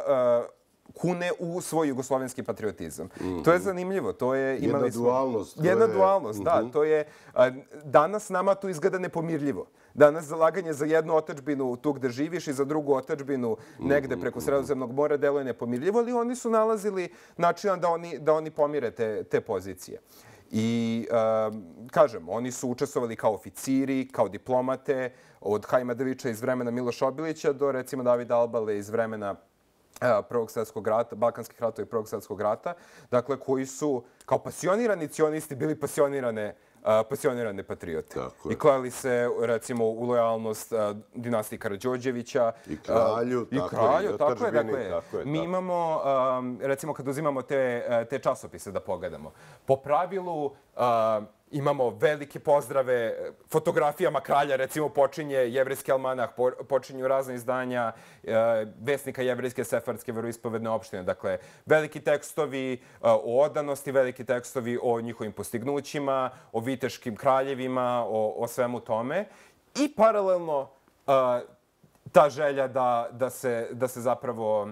kune u svoj jugoslovenski patriotizam. Mm-hmm. To je zanimljivo. To je, imali jedna smo, dualnost. Jedna je... dualnost, mm-hmm. da. To je, a, danas nama to izgleda nepomirljivo. Danas zalaganje za jednu otadžbinu tu gde živiš i za drugu otadžbinu negde preko Sredozemnog mora deluje nepomirljivo, ali oni su nalazili načina da oni, da oni pomire te, te pozicije. I, um, kažem, oni su učestvovali kao oficiri, kao diplomate, od Hajma Devića iz vremena Miloša Obilića do, recimo, Davida Albale iz vremena uh, Prvog svjetskog rata, Balkanskih ratova i Prvog svjetskog rata, dakle, koji su kao pasionirani cionisti bili pasionirane Uh, pasionirane patriote. I klali se, recimo, u lojalnost uh, dinastiji Karađorđevića. I kralju. Uh, I tako kralju, je, tako je. Dakle, tako je, mi tako. imamo, um, recimo, kad uzimamo te, te časopise da pogledamo, po pravilu uh, imamo velike pozdrave, fotografijama kralja, recimo, počinje Jevrejski almanah, po, počinju razne izdanja uh, vesnika Jevrejske sefardske veroispovedne opštine. Dakle, veliki tekstovi uh, o odanosti, veliki tekstovi o njihovim postignućima, o viteškim kraljevima, o, o svemu tome. I paralelno uh, ta želja da, da, se, da se zapravo uh,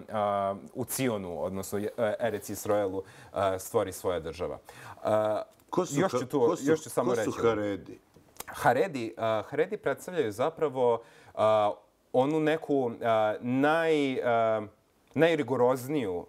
u Cionu, odnosno Erec Israelu, uh, stvori svoja država. Uh, Ko su, još ću, tu, ko su, još ću samo ko reći. su Haredi? Haredi, uh, Haredi predstavljaju zapravo uh, onu neku uh, naj... Uh, najrigorozniju,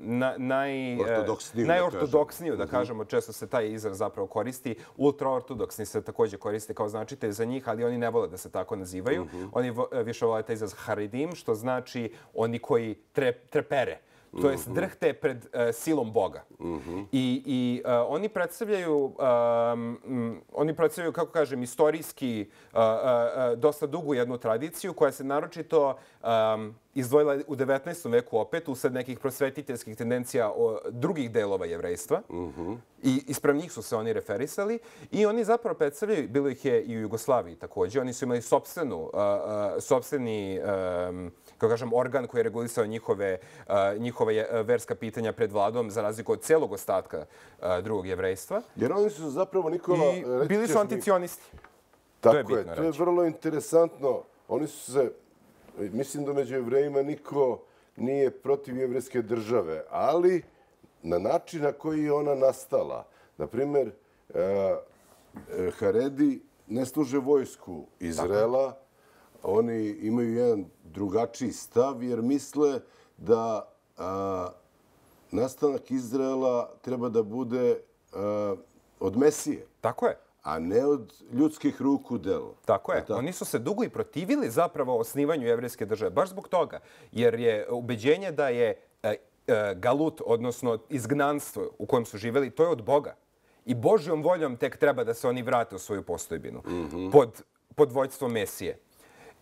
na, naj, ortodoksniju, najortodoksniju, da, da kažemo, često se taj izraz zapravo koristi. Ultraortodoksni se također koriste kao značitelj za njih, ali oni ne vole da se tako nazivaju. Uh-huh. Oni više vole taj izraz haredim, što znači oni koji tre, trepere. To jest drhte pred uh, silom Boga. Uh-huh. I, i uh, oni predstavljaju, um, oni predstavljaju, kako kažem, istorijski uh, uh, dosta dugu jednu tradiciju koja se naročito um, izdvojila u devetnaestom veku opet, usled nekih prosvetiteljskih tendencija o drugih delova jevrejstva. Uh-huh. I isprav njih su se oni referisali. I oni zapravo predstavljaju, bilo ih je i u Jugoslaviji također, oni su imali sopstvenu, uh, uh, sopstveni um, kako kažem, organ koji je regulisao njihove, uh, njihove verska pitanja pred vladom, za razliku od celog ostatka uh, drugog jevrejstva. Jer oni su zapravo, Nikola... I bili su anticionisti. Tako to je, bitno je to je vrlo interesantno. Oni su se, mislim da među jevrejima niko nije protiv jevrejske države, ali na način na koji je ona nastala. Naprimjer, uh, Haredi ne služe vojsku Izraela, tako. Oni imaju jedan drugačiji stav jer misle da a, nastanak Izraela treba da bude a, od Mesije. Tako je. A ne od ljudskih ruku delo. Tako je. Tako? Oni su se dugo i protivili zapravo osnivanju jevrejske države. Baš zbog toga. Jer je ubeđenje da je a, a, galut, odnosno izgnanstvo u kojem su živjeli, to je od Boga. I Božjom voljom tek treba da se oni vrate u svoju postojbinu. Mm-hmm. Pod, pod vođstvom Mesije.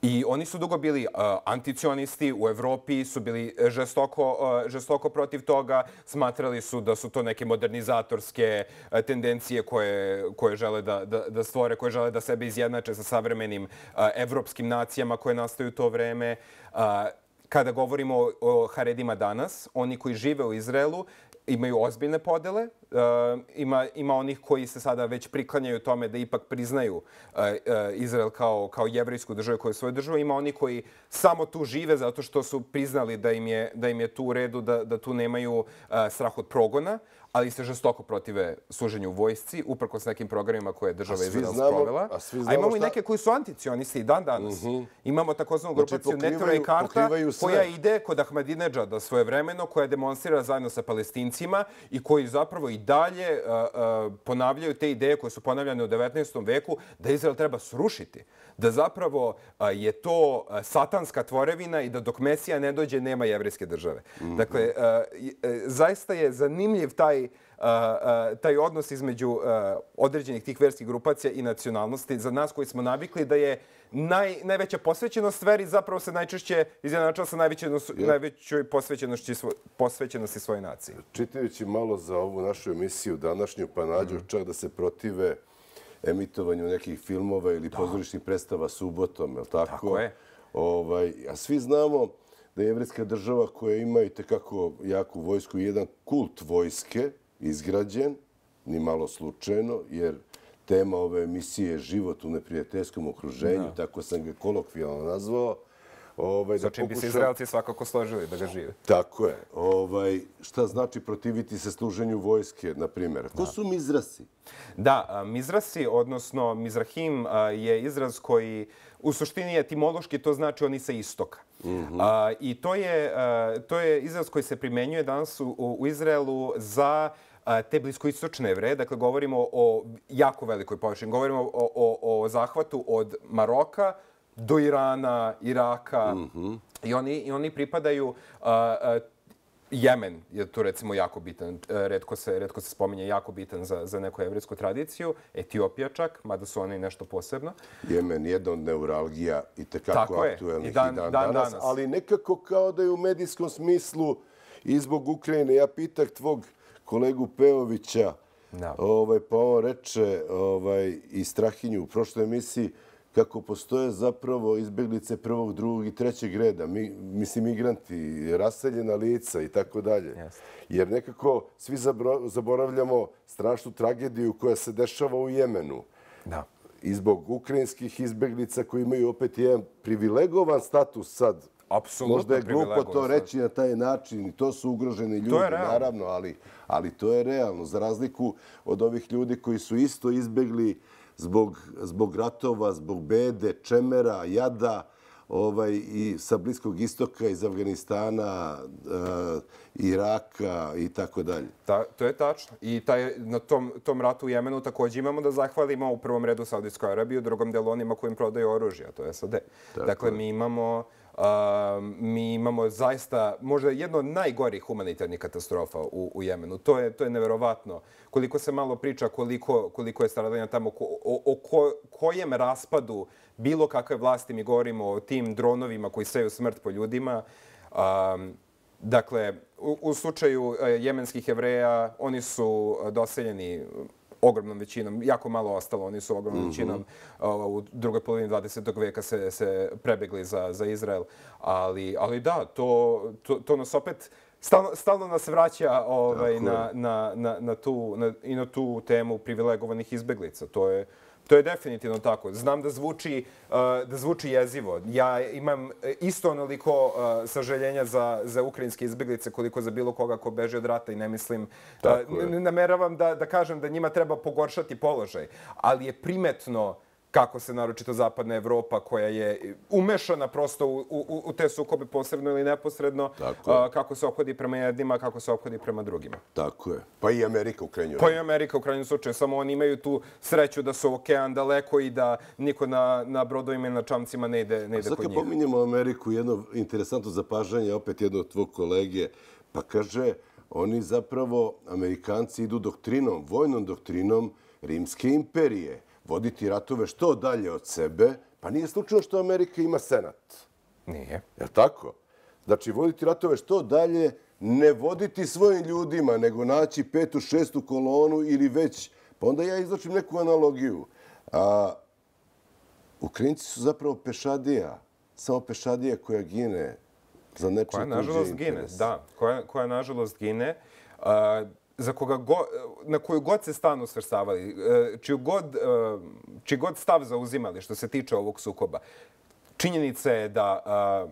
I oni su dugo bili uh, anticionisti, u Evropi su bili žestoko, uh, žestoko protiv toga, smatrali su da su to neke modernizatorske uh, tendencije koje, koje žele da, da, da stvore, koje žele da sebe izjednače sa savremenim uh, evropskim nacijama koje nastaju u to vreme. Uh, kada govorimo o, o Haredima danas, oni koji žive u Izraelu imaju ozbiljne podele. Uh, ima, ima onih koji se sada već priklanjaju tome da ipak priznaju uh, uh, Izrael kao, kao jevrejsku državu, kao svoju državu. Ima oni koji samo tu žive zato što su priznali da im je, da im je tu u redu, da, da tu nemaju uh, strah od progona, ali se žestoko protive služenju u vojsci, uprkos nekim programima koje je država Izrael sprovela. A, a imamo šta... i neke koji su anticionisti i dan danas. Mm-hmm. Imamo takozvanu grupaciju znači, Netura i Karta koja ide kod Ahmadinedžada svojevremeno, koja demonstrira zajedno sa Palestincima i koji zapravo i dalje uh, uh, ponavljaju te ideje koje su ponavljane u devetnaestom veku da Izrael treba srušiti. Da zapravo uh, je to uh, satanska tvorevina i da dok Mesija ne dođe nema jevrejske države. Mm-hmm. Dakle, uh, uh, zaista je zanimljiv taj Uh, uh, taj odnos između uh, određenih tih verskih grupacija i nacionalnosti za nas koji smo navikli da je naj, najveća posvećenost veri zapravo se najčešće izjednačava sa ja. najvećoj posvećenosti, svo, posvećenosti svoje nacije. Čitajući malo za ovu našu emisiju današnju, pa nađu mm. čak da se protive emitovanju nekih filmova ili da. pozorišnih predstava subotom, je li tako? Tako je. Ovaj, a svi znamo da je jevrejska država koja ima i tekako jaku vojsku i jedan kult vojske, izgrađen, ni malo slučajno, jer tema ove emisije je život u neprijateljskom okruženju, da. tako sam ga kolokvijalno nazvao. Ovaj, Sa čim pokušam... bi se Izraelci svakako složili da ga žive. Tako je. Ovaj, šta znači protiviti se služenju vojske, na primjer? Ko da. su Mizrasi? Da, Mizrasi, odnosno Mizrahim, je izraz koji u suštini etimološki to znači oni sa istoka. Mm-hmm. A, I to je, a, to je izraz koji se primenjuje danas u, u Izraelu za a, te bliskoistočne Jevreje. Dakle, govorimo o jako velikoj površini. Govorimo o, o, o zahvatu od Maroka do Irana, Iraka. Mm-hmm. I, oni, I oni pripadaju... A, a, Jemen je tu recimo jako bitan, retko se, retko se spominje, jako bitan za, za neku jevrejsku tradiciju. Etiopija čak, mada su oni nešto posebno. Jemen je jedna od neuralgija i tekako aktuelnih i dan, i dan, dan danas, danas. Ali nekako kao da je u medijskom smislu i zbog Ukrajine. Ja pitak tvog kolegu Peovića, no. ovaj, pa on reče ovaj, i Strahinju u prošloj emisiji, kako postoje zapravo izbjeglice prvog, drugog i trećeg reda, mi, mislim migranti, raseljena lica i tako dalje. Jer nekako svi zaboravljamo strašnu tragediju koja se dešava u Jemenu. Da. I zbog ukrajinskih izbjeglica koji imaju opet jedan privilegovan status sad. Apsolutno možda je glupo to reći na taj način i to su ugroženi ljudi, naravno, ali, ali to je realno. Za razliku od ovih ljudi koji su isto izbjegli zbog, zbog ratova, zbog bede, čemera, jada, ovaj, i sa Bliskog istoka, iz Afganistana, Iraka i tako dalje. To je tačno. I na tom ratu u Jemenu također imamo da zahvalimo u prvom redu Saudijskoj Arabiji, u drugom delu onima kojim prodaju oružje, a to je S A D. Dakle, mi imamo mi imamo zaista možda jedno od najgorih humanitarnih katastrofa u Jemenu. To je neverovatno. Koliko se malo priča, koliko je stradanja tamo, o kojem raspadu bilo kakve vlasti mi govorimo, o tim dronovima koji seju smrt po ljudima. Dakle, u slučaju jemenskih Jevreja, oni su doseljeni ogromnom većinom, jako malo ostalo, oni su ogromnom većinom u drugoj polovini dvadesetog veka se prebegli za Izrael. Ali da, to nas opet stalno nas vraća i na tu temu privilegovanih izbeglica. To je To je definitivno tako. Znam da zvuči jezivo. Ja imam isto onoliko sažaljenja za ukrajinske izbeglice koliko za bilo koga ko beže od rata i ne mislim, ne nameravam da kažem da njima treba pogoršati položaj, ali je primetno kako se naročito zapadna Evropa koja je umešana prosto u te sukobe posredno ili neposredno, kako se ophodi prema jednima, kako se ophodi prema drugima. Tako je. Pa i Amerika u krajnjoj. Pa i Amerika u krajnjem slučaju. Samo oni imaju tu sreću da su okean daleko i da niko na brodovima i na čamcima ne ide kod njih. Sad kad pominjemo Ameriku, jedno interesantno zapažanje, opet jedno od tvog kolege, pa kaže, oni zapravo, Amerikanci, idu doktrinom, vojnom doktrinom Rimske imperije. Voditi ratove što dalje od sebe, pa nije slučajno što Amerika ima senat. Nije. Je li tako? Znači, voditi ratove što dalje, ne voditi svojim ljudima, nego naći petu, šestu kolonu ili već. Pa onda ja izlačim neku analogiju. Ukrajinci su zapravo pešadija, samo pešadija koja gine za nečim tuđe interes. Da, koja nažalost gine. Za koga na koju god se stranu svrstavali, čiji god stav zauzimali što se tiče ovog sukoba, činjenica je da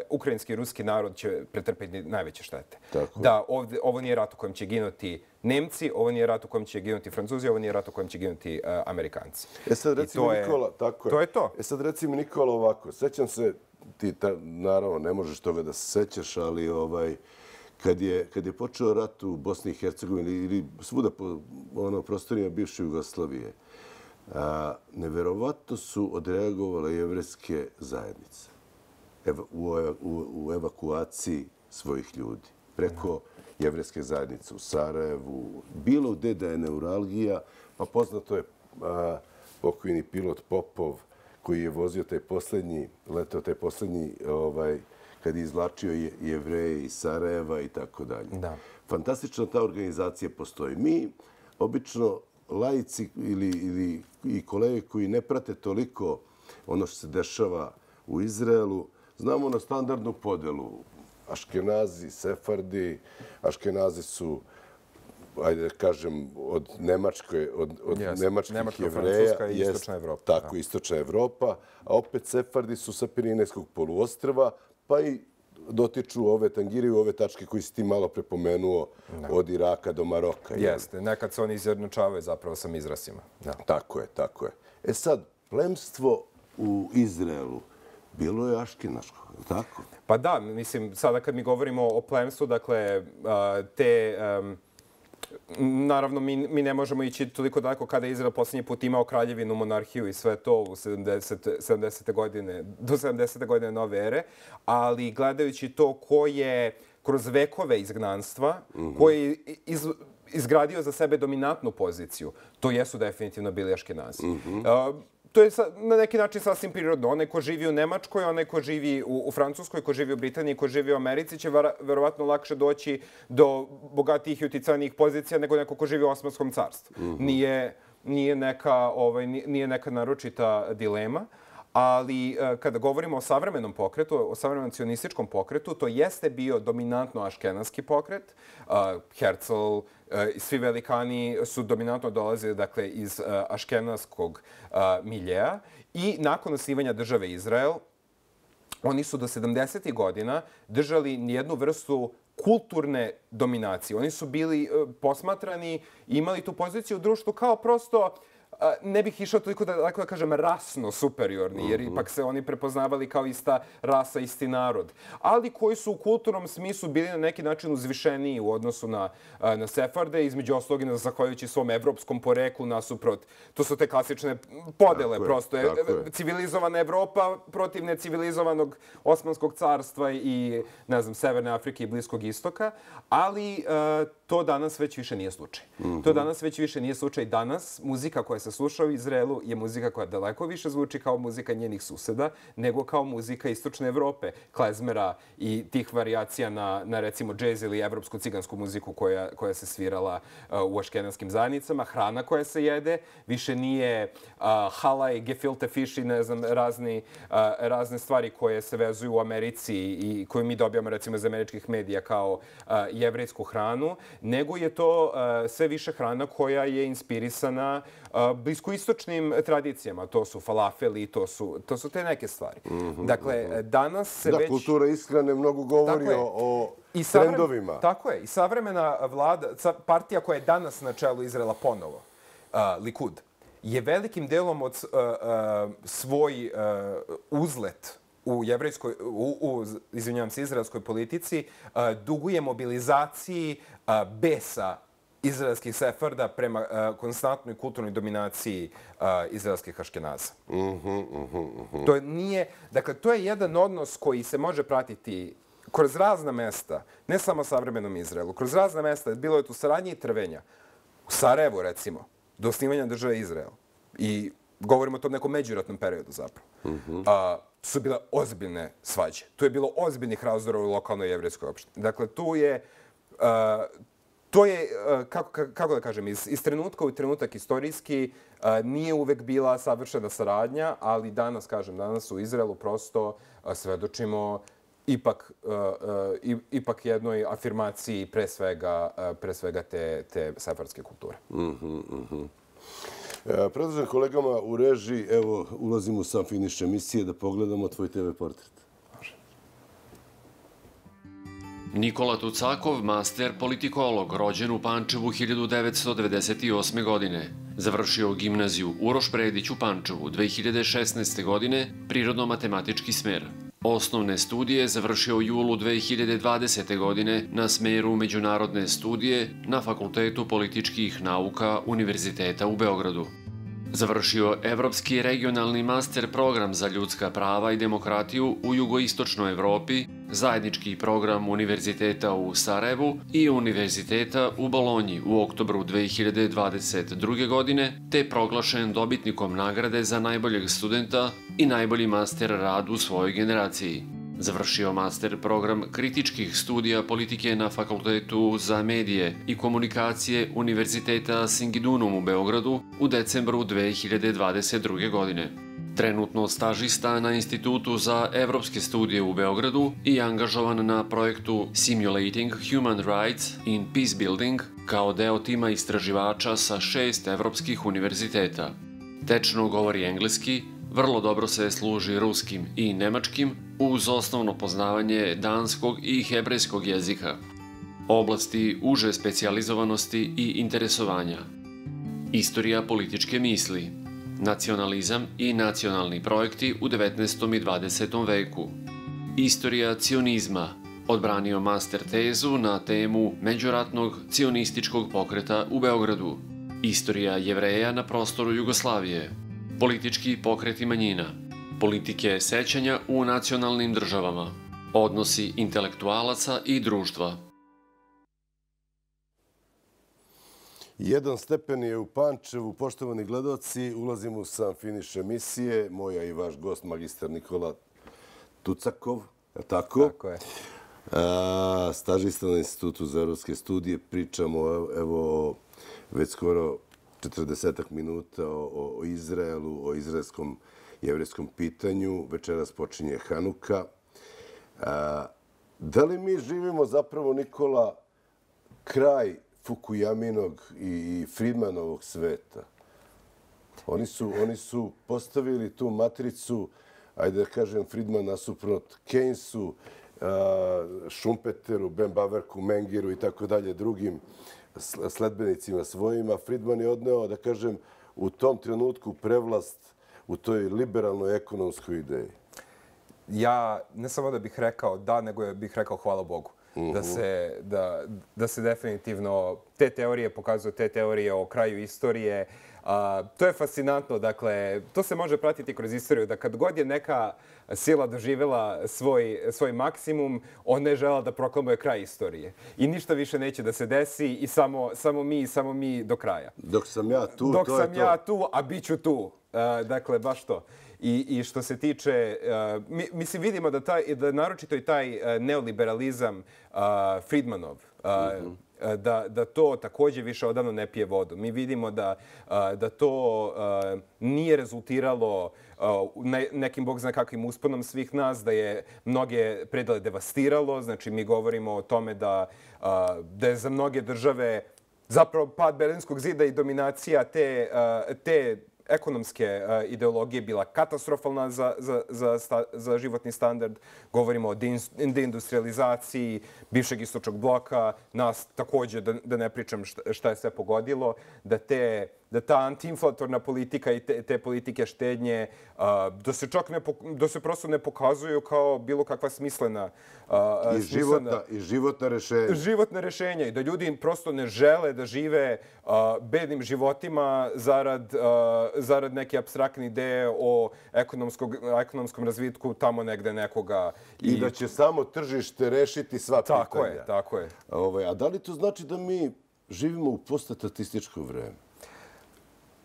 ukrajinski i ruski narod će pretrpeti najveće štete. Da ovo nije rat u kojem će ginuti Nemci, ovo nije rat u kojem će ginuti Francuzi, ovo nije rat u kojem će ginuti Amerikanci. E sad recimo Nikola, tako je. To je to. E sad recimo Nikola ovako, sećam se, ti naravno ne možeš toga da se sećaš, ali ovaj, Kad je, kad je počeo rat u Bosni i Hercegovini ili svuda po ono, prostorima bivše Jugoslavije, a, neverovatno su odreagovale jevrejske zajednice ev, u, u, u evakuaciji svojih ljudi. Preko jevrejske zajednice u Sarajevu, bilo gde da je neuralgija, pa poznato je a, pokojni pilot Popov koji je vozio taj poslednji, letao taj poslednji ovaj, kad je izvlačio Jevreje iz Sarajeva i tako dalje. Fantastična ta organizacija postoji. Mi, obično, laici ili, ili i kolege koji ne prate toliko ono što se dešava u Izraelu, znamo na standardnu podelu. Aškenazi, Sefardi, Aškenazi su, ajde da kažem, od Nemačke, od, od yes. nemačkih Nemačka, Jevreja. Francuska i Istočna Evropa. Tako, da. Istočna Evropa. A opet Sefardi su sa Pirinejskog poluostrva, pa i dotiču ove tangiriju, ove tačke koji si ti malo prepomenuo od Iraka do Maroka. Jeste, nekad se oni izjednačavaju zapravo sa Mizrasima. Tako je, tako je. E sad, plemstvo u Izraelu bilo je aškenaško, tako? Pa da, mislim, sada kad mi govorimo o plemstvu, dakle, te... Naravno, mi, mi ne možemo ići toliko daleko kada je Izrael posljednji put imao kraljevinu, monarhiju i sve to u sedamdesete godine, do sedamdesete godine nove ere, ali gledajući to ko je kroz vekove izgnanstva, mm-hmm. koji je iz, izgradio za sebe dominantnu poziciju, to jesu definitivno bili Aškenazi. Mm-hmm. Uh, To je na neki način sasvim prirodno. Onaj ko živi u Nemačkoj, onaj ko živi u, u Francuskoj, ko živi u Britaniji, ko živi u Americi će vara, verovatno lakše doći do bogatijih i uticajnijih pozicija nego neko ko živi u Osmanskom carstvu. Mm-hmm. Nije, nije, neka, ovaj, nije neka naročita dilema. Ali kada govorimo o savremenom pokretu, o savremenom cionističkom pokretu, to jeste bio dominantno aškenaski pokret. Herzl i svi velikani su dominantno dolazili dakle, iz aškenaskog miljeja. I nakon osnivanja države Izrael, oni su do sedamdesetih godina držali nijednu vrstu kulturne dominacije. Oni su bili posmatrani i imali tu poziciju u društvu kao prosto ne bih išao toliko da, da kažem, rasno superiorni, jer ipak se oni prepoznavali kao ista rasa, isti narod, ali koji su u kulturnom smislu bili na neki način uzvišeniji u odnosu na, na Sefarde, između ostalog i zahvaljujući svom evropskom poreklu nasuprot. To su te klasične podele, tako prosto. Je, je. Civilizovana Evropa protiv necivilizovanog Osmanskog carstva i, ne znam, Severne Afrike i Bliskog istoka, ali uh, to danas već više nije slučaj. Mm-hmm. To danas već više nije slučaj. Danas muzika koja se sluša u Izraelu je muzika koja daleko više zvuči kao muzika njenih suseda nego kao muzika istočne Evrope, klezmera i tih varijacija na, na recimo džez ili evropsku cigansku muziku koja, koja se svirala uh, u aškenaskim zajednicama. Hrana koja se jede više nije uh, halaj, gefilte fish i ne znam, razni, uh, razne stvari koje se vezuju u Americi i koju mi dobijamo recimo iz američkih medija kao uh, jevrejsku hranu, nego je to uh, sve više hrana koja je inspirisana uh, bliskoistočnim tradicijama. To su falafeli, to su, to su te neke stvari. Mm-hmm, dakle, mm-hmm. danas se da, već... Da, kultura ishrane mnogo govori o, o I savrem... trendovima. Tako je. I savremena vlada, partija koja je danas na čelu Izraela ponovo, uh, Likud, je velikim delom od uh, uh, svoj uh, uzlet u jevrejskoj, u, u izvinjavam se, izraelskoj politici, uh, duguje mobilizaciji uh, besa izraelskih sefarda prema uh, konstantnoj kulturnoj dominaciji uh, izraelskih aškenaza. Mm-hmm, mm-hmm. To nije, dakle, to je jedan odnos koji se može pratiti kroz razna mesta, ne samo savremenom Izraelu, kroz razna mesta, bilo je tu saradnje i trvenja. U Sarajevu, recimo, do osnivanja države Izrael. I govorimo o tom nekom međuratnom periodu zapravo. Mm-hmm. A, su bile ozbiljne svađe. Tu je bilo ozbiljnih razdora u lokalnoj jevrejskoj opštini. Dakle, tu je... A, to je, a, kako, kako da kažem, iz, iz trenutka u trenutak istorijski a, nije uvek bila savršena saradnja, ali danas, kažem, danas u Izraelu prosto a, svedočimo ipak, uh, uh, ipak jednoj afirmaciji pre svega, uh, pre svega te, te sefardske kulture. Mm-hmm, mm-hmm. E, predlažem kolegama u režiji, evo, ulazimo u sam finiš emisije da pogledamo tvoj te ve portret. Nikola Tucakov, master politikolog, rođen u Pančevu hiljadu devetsto devedeset osme. godine. Završio gimnaziju Uroš Predić u Pančevu dve hiljade šesnaeste. godine, prirodno-matematički smer. Osnovne studije završio u julu dve hiljade dvadesete. godine na smeru međunarodne studije na Fakultetu političkih nauka Univerziteta u Beogradu. Završio Evropski regionalni master program za ljudska prava i demokratiju u jugoistočnoj Evropi, zajednički program Univerziteta u Sarajevu i Univerziteta u Bolonji u oktobru dve hiljade dvadeset druge. godine, te proglašen dobitnikom nagrade za najboljeg studenta i najbolji master rad u svojoj generaciji. Završio master program kritičkih studija politike na Fakultetu za medije i komunikacije Univerziteta Singidunum u Beogradu u decembru dve hiljade dvadeset druge. godine. Trenutno stažista na Institutu za evropske studije u Beogradu i angažovan na projektu Simulating Human Rights in Peacebuilding kao deo tima istraživača sa šest evropskih univerziteta. Tečno govori engleski, vrlo dobro se služi ruskim i nemačkim uz osnovno poznavanje danskog i hebrejskog jezika. Oblasti uže specijalizovanosti i interesovanja. Istorija političke misli. Nacionalizam i nacionalni projekti u devetnaestom i dvadesetom veku. Istorija cionizma. Odbranio master tezu na temu međuratnog cionističkog pokreta u Beogradu. Istorija Jevreja na prostoru Jugoslavije. Politički pokreti manjina. Politike sećanja u nacionalnim državama. Odnosi intelektualaca i društva. Jedan stepen je u Pančevu. Poštovani gledaoci, ulazimo u sam finiš emisije. Moja i vaš gost, magistar Nikola Tucakov. Je tako? Tako je. A, stažista na Institutu za evropske studije. Pričamo evo već skoro četrdesetak minuta o, o Izraelu, o izraelskom jevrejskom pitanju. Večeras počinje Hanuka. A, da li mi živimo zapravo, Nikola, kraj Fukuyaminog i Friedmanovog sveta? Oni su, oni su postavili tu matricu, ajde da kažem, Friedman nasuprot Keynesu, Schumpeteru, Ben Baverku, Mengiru i tako dalje, drugim sledbenicima svojima. Friedman je odneo, da kažem, u tom trenutku prevlast u toj liberalnoj ekonomskoj ideji? Ja ne samo da bih rekao da, nego bih rekao hvala Bogu. Da se, da, da se definitivno te teorije pokazuju, te teorije o kraju istorije. A, to je fascinantno, dakle, to se može pratiti kroz istoriju, da kad god je neka sila doživjela svoj, svoj maksimum, ona je žela da proklamuje kraj istorije. I ništa više neće da se desi i samo, samo mi i samo mi do kraja. Dok sam ja tu, Dok to sam je ja to. tu, a bit ću tu. Uh, dakle, baš to. I, i što se tiče, uh, mi, mislim, vidimo da, taj, da naročito i taj uh, neoliberalizam uh, Friedmanov, uh, mm-hmm. da, da to također više odavno ne pije vodu. Mi vidimo da, uh, da to uh, nije rezultiralo uh, ne, nekim, bog zna kakvim usponom svih nas, da je mnoge predele devastiralo. Znači, mi govorimo o tome da, uh, da je za mnoge države zapravo pad Berlinskog zida i dominacija te, uh, te ekonomske uh, ideologije bila katastrofalna za, za, za, sta, za životni standard. Govorimo o deindustrializaciji bivšeg istočnog bloka. Nas također, da, da ne pričam šta, šta je sve pogodilo, da, te, da ta antiinflatorna politika i te, te politike štednje uh, da se čak ne, da se prosto ne pokazuju kao bilo kakva smislena uh, I, životna, i životna rešenja. Životna rešenja i da ljudi prosto ne žele da žive uh, bednim životima zarad, uh, zarad neke apstraktne ideje o ekonomskom razvitku tamo negde nekoga. I, I da će samo tržište rešiti sva pitanja. Tako je, tako je. Ovaj, a da li to znači da mi živimo u poststatističko vreme?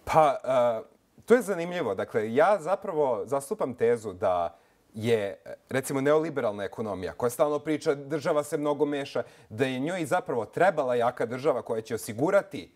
Pa, uh, to je zanimljivo. Dakle, ja zapravo zastupam tezu da je, recimo, neoliberalna ekonomija koja stalno priča država se mnogo meša, da je njoj zapravo trebala jaka država koja će osigurati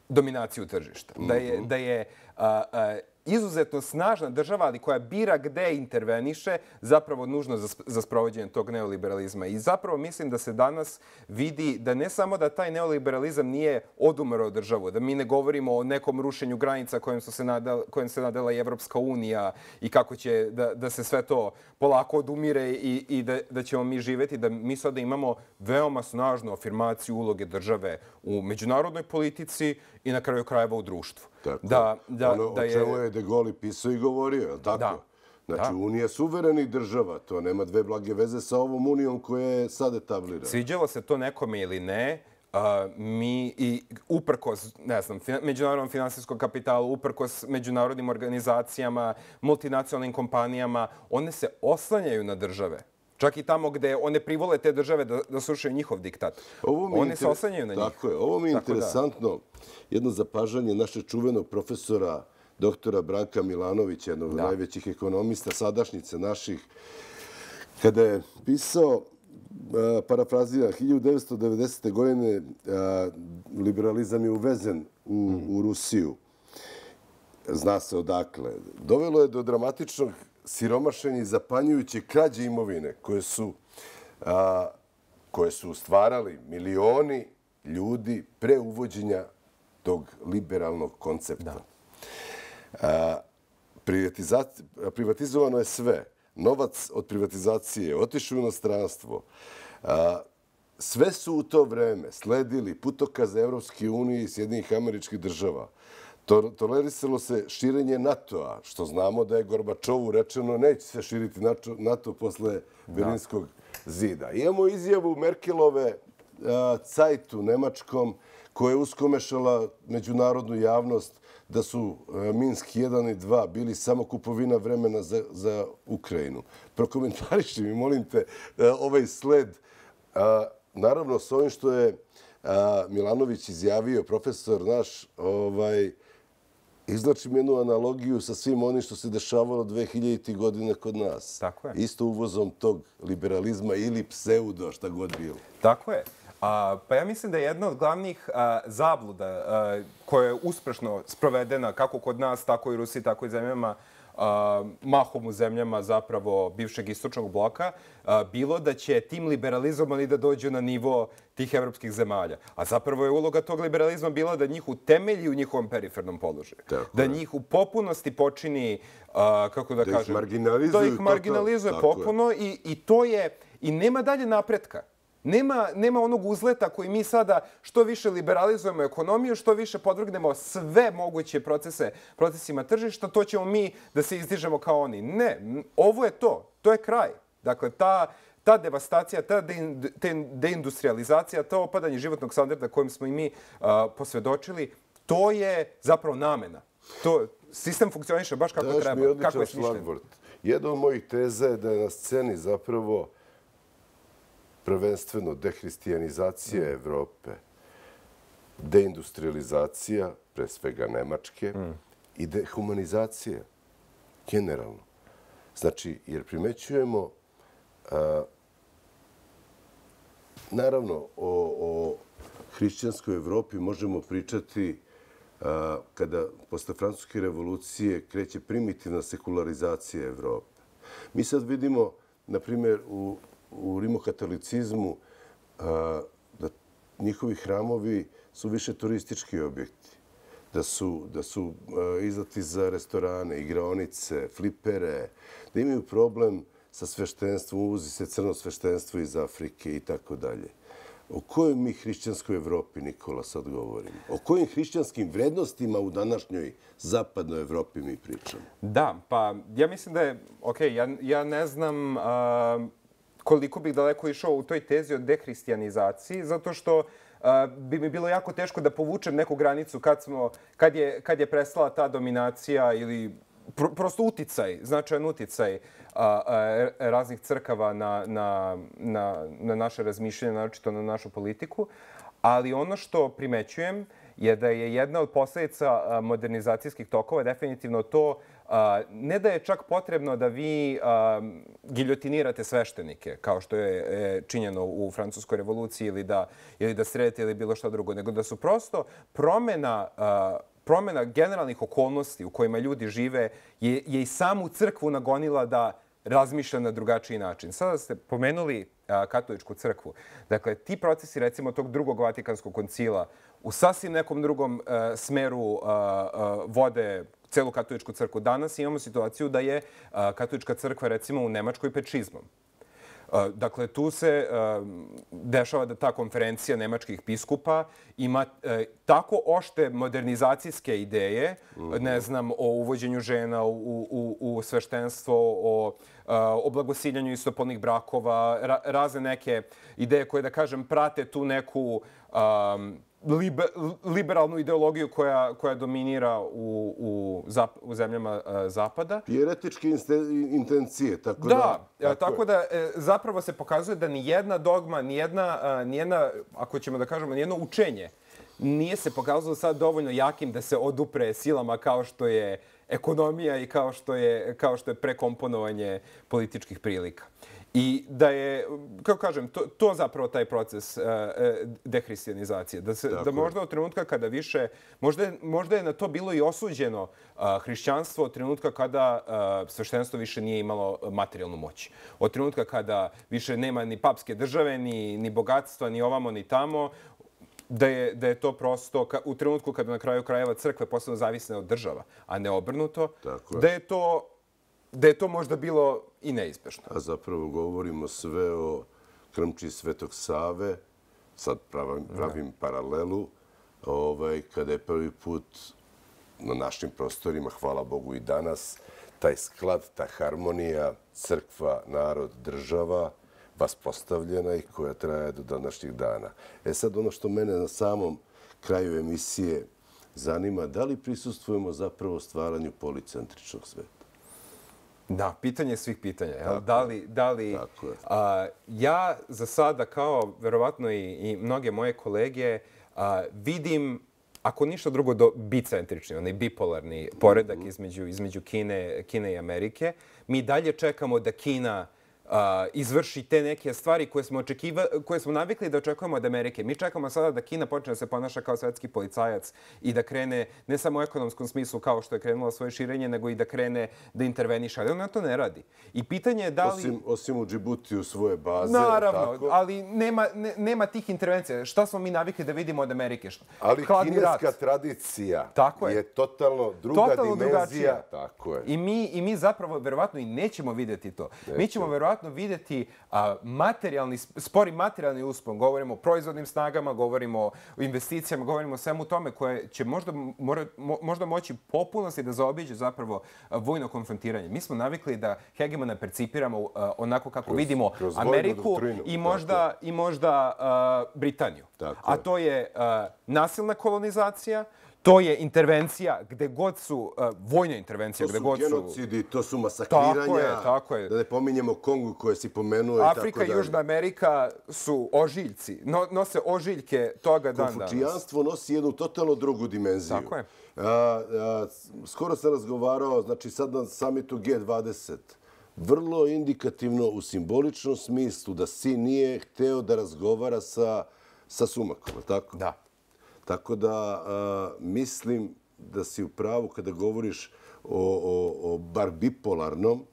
dominaciju tržišta. Mm-hmm. Da je, da je uh, uh, izuzetno snažna država, ali koja bira gde interveniše, zapravo nužno za, za sprovođenje tog neoliberalizma. I zapravo mislim da se danas vidi da ne samo da taj neoliberalizam nije odumrao državu, da mi ne govorimo o nekom rušenju granica kojim, su se nadala, kojim se nadala i Evropska unija i kako će da, da se sve to polako odumire i, i da, da ćemo mi živeti, da mi sada imamo veoma snažnu afirmaciju uloge države u međunarodnoj politici i na kraju krajeva u društvu. Tako. Da, da, ono da o čemu je De Gaulle pisao i govorio, je li tako? Da. Znači, da. Unija suverenih država, to nema dve blage veze sa ovom Unijom koja je sad etablirana. Sviđalo se to nekome ili ne, uh, mi i uprkos, ne znam, fin- međunarodnom finansijskom kapitalu, uprkos međunarodnim organizacijama, multinacionalnim kompanijama, one se oslanjaju na države. Čak i tamo gde one privole te države da, da slušaju njihov diktat. One inter... se oslanjaju na njih. Tako je. Ovo mi je tako interesantno. Da. Jedno zapažanje našeg čuvenog profesora doktora Branka Milanovića, jednog od najvećih ekonomista sadašnjice naših, kada je pisao, parafrazira, hiljadu devetsto devedesete. godine liberalizam je uvezen u, mm. u Rusiju. Zna se odakle. Dovelo je do dramatičnog siromašenja i zapanjujuće krađe imovine koje su, a, koje su stvarali milioni ljudi pre uvođenja tog liberalnog koncepta. Da. A, privatizovano je sve. Novac od privatizacije otišao u inostranstvo. A, sve su u to vreme sledili putokaze Evropske unije i Sjedinjenih Američkih Država. Tolerisalo se širenje NATO-a, što znamo da je Gorbačovu rečeno neće se širiti NATO posle Berlinskog zida. Imamo izjavu Merkelove Zeitu nemačkom koja je uskomešala međunarodnu javnost da su Minsk jedan i dva bili samo kupovina vremena za, za Ukrajinu. Prokomentariši mi, molim te, ovaj sled. Naravno, s ovim što je Milanović izjavio, profesor naš, ovaj, izlačim jednu analogiju sa svim onim što se dešavalo dve hiljaditih godina kod nas. Tako je. Isto uvozom tog liberalizma ili pseudo, šta god bilo. Tako je. A, pa ja mislim da je jedna od glavnih a, zabluda a, koja je uspešno sprovedena kako kod nas, tako i u Rusiji, tako i zemljama, a, mahom u zemljama zapravo bivšeg istočnog bloka, a, bilo da će tim liberalizmom oni da dođu na nivo tih evropskih zemalja. A zapravo je uloga tog liberalizma bila da njih utemelji u njihovom perifernom položaju. Tako da je. Njih u popunosti počini, a, kako da, da kažem, ih marginalizuju, da ih marginalizuje popuno i, i to je, i nema dalje napretka. Nema, nema onog uzleta koji mi sada što više liberalizujemo ekonomiju, što više podvrgnemo sve moguće procese, procesima tržišta, to ćemo mi da se izdižemo kao oni. Ne, ovo je to. To je kraj. Dakle, ta, ta devastacija, ta deindustrializacija, to opadanje životnog standarda kojem smo i mi uh, posvedočili, to je zapravo namena. To, sistem funkcioniše baš kako Daš treba. Mi odličan kako je šlagvort. Jedna od mojih teza je da je na sceni zapravo prvenstveno dehristijanizacija mm. Evrope, deindustrializacija, pre svega Nemačke, mm. i dehumanizacija, generalno. Znači, jer primećujemo, a, naravno, o, o hrišćanskoj Evropi možemo pričati a, kada posle Francuske revolucije kreće primitivna sekularizacija Evrope. Mi sad vidimo, na primjer, u u rimokatolicizmu a, da njihovi hramovi su više turistički objekti, da su, da su a, izlati za restorane, igraonice, flipere, da imaju problem sa sveštenstvom, uvozi se crno sveštenstvo iz Afrike i tako dalje. O kojoj mi hrišćanskoj Evropi, Nikola, sad govorimo? O kojim hrišćanskim vrednostima u današnjoj zapadnoj Evropi mi pričamo? Da, pa ja mislim da je, ok, ja, ja ne znam a, koliko bih daleko išao u toj tezi o dehristijanizaciji, zato što uh, bi mi bilo jako teško da povučem neku granicu kad, smo, kad, je, kad je prestala ta dominacija ili pr prosto uticaj, značajan uticaj uh, uh, raznih crkava na, na, na, na naše razmišljanje, naročito na našu politiku. Ali ono što primećujem je da je jedna od posljedica modernizacijskih tokova definitivno to ne da je čak potrebno da vi giljotinirate sveštenike, kao što je činjeno u Francuskoj revoluciji, ili da, ili da sredite ili bilo što drugo, nego da su prosto promjena, promjena generalnih okolnosti u kojima ljudi žive je, je i samu crkvu nagonila da razmišlja na drugačiji način. Sada ste pomenuli katoličku crkvu. Dakle, ti procesi, recimo, tog drugog Vatikanskog koncila u sasvim nekom drugom uh, smeru uh, uh, vode celu katoličku crkvu. Danas imamo situaciju da je uh, katolička crkva, recimo, u Nemačkoj pred šizmom. Uh, dakle, tu se uh, dešava da ta konferencija nemačkih biskupa ima uh, tako ošte modernizacijske ideje, mm-hmm. ne znam, o uvođenju žena u, u, u sveštenstvo, o uh, o blagosiljanju istopolnih brakova, ra razne neke ideje koje, da kažem, prate tu neku um, liber, liberalnu ideologiju koja, koja dominira u, u, zap, u zemljama uh, Zapada. Jeretičke intencije, tako da... Da, tako, tako da e, zapravo se pokazuje da nijedna dogma, nijedna, uh, nijedna, ako ćemo da kažemo, nijedno učenje nije se pokazalo sad dovoljno jakim da se odupre silama kao što je ekonomija i kao što je, kao što je prekomponovanje političkih prilika. I da je, kako kažem, to, to zapravo taj proces uh, dehristijanizacije. Da, se, da možda od trenutka kada više, možda je, možda je na to bilo i osuđeno uh, hrišćanstvo od trenutka kada uh, sveštenstvo više nije imalo materijalnu moć. Od trenutka kada više nema ni papske države, ni, ni bogatstva, ni ovamo, ni tamo, da je, da je to prosto u trenutku kada na kraju krajeva crkve postanu zavisne od država, a ne obrnuto, da je to, da je to možda bilo i neizbešno. A zapravo govorimo sve o krmči Svetog Save, sad pravim, pravim paralelu, ovaj, kada je prvi put na našim prostorima, hvala Bogu i danas, taj sklad, ta harmonija, crkva, narod, država, vaspostavljena i koja traje do današnjih dana. E sad, ono što mene na samom kraju emisije zanima, da li prisustvujemo zapravo stvaranju policentričnog sveta? Da, pitanje svih pitanja. Tako, da li, da li, a, ja za sada, kao verovatno i, i mnoge moje kolege, a, vidim, ako ništa drugo, do bicentrični, onaj bipolarni poredak mm-hmm. između, između Kine, Kine i Amerike. Mi dalje čekamo da Kina Uh, izvrši te neke stvari koje smo, očekiva, koje smo navikli da očekujemo od Amerike. Mi čekamo sada da Kina počne da se ponaša kao svetski policajac i da krene ne samo u ekonomskom smislu kao što je krenula svoje širenje, nego i da krene da interveniše. Ali ona to ne radi. I pitanje je da li... Osim, osim u Džibutiju svoje baze. Naravno, tako? ali nema, ne, nema tih intervencija. Šta smo mi navikli da vidimo od Amerike? Šta? Ali Hladni kineska rat. tradicija tako je. je totalno druga totalno dimenzija. Drugačija. Tako je. I mi, I mi zapravo verovatno i nećemo vidjeti to. Nećemo. Mi ćemo verovatno verovatno vidjeti a, materijalni, spori materijalni uspon. Govorimo o proizvodnim snagama, govorimo o investicijama, govorimo o svemu tome koje će možda, mora, mo, možda moći popunosti da zaobiđe zapravo a, vojno konfrontiranje. Mi smo navikli da hegemona percipiramo a, onako kako kroz, vidimo kroz Ameriku i možda, i možda a, Britaniju. Tako A to je a, nasilna kolonizacija, to je intervencija gde god su, uh, vojna intervencija gde god su... To su genocidi, to su masakriranja. Tako je, tako je. Da ne pominjemo Kongu koje si pomenuo. Afrika i Južna Amerika su ožiljci. No, nose ožiljke toga dan danas. Konfučijanstvo nosi jednu totalno drugu dimenziju. Tako je. A, a, skoro sam razgovarao, znači sad na samitu G dvadeset, vrlo indikativno u simboličnom smislu da Si nije hteo da razgovara sa, sa Sumakom, tako? Da. Tako da a, mislim da si u pravu kada govoriš o, o, o bar bipolarnom,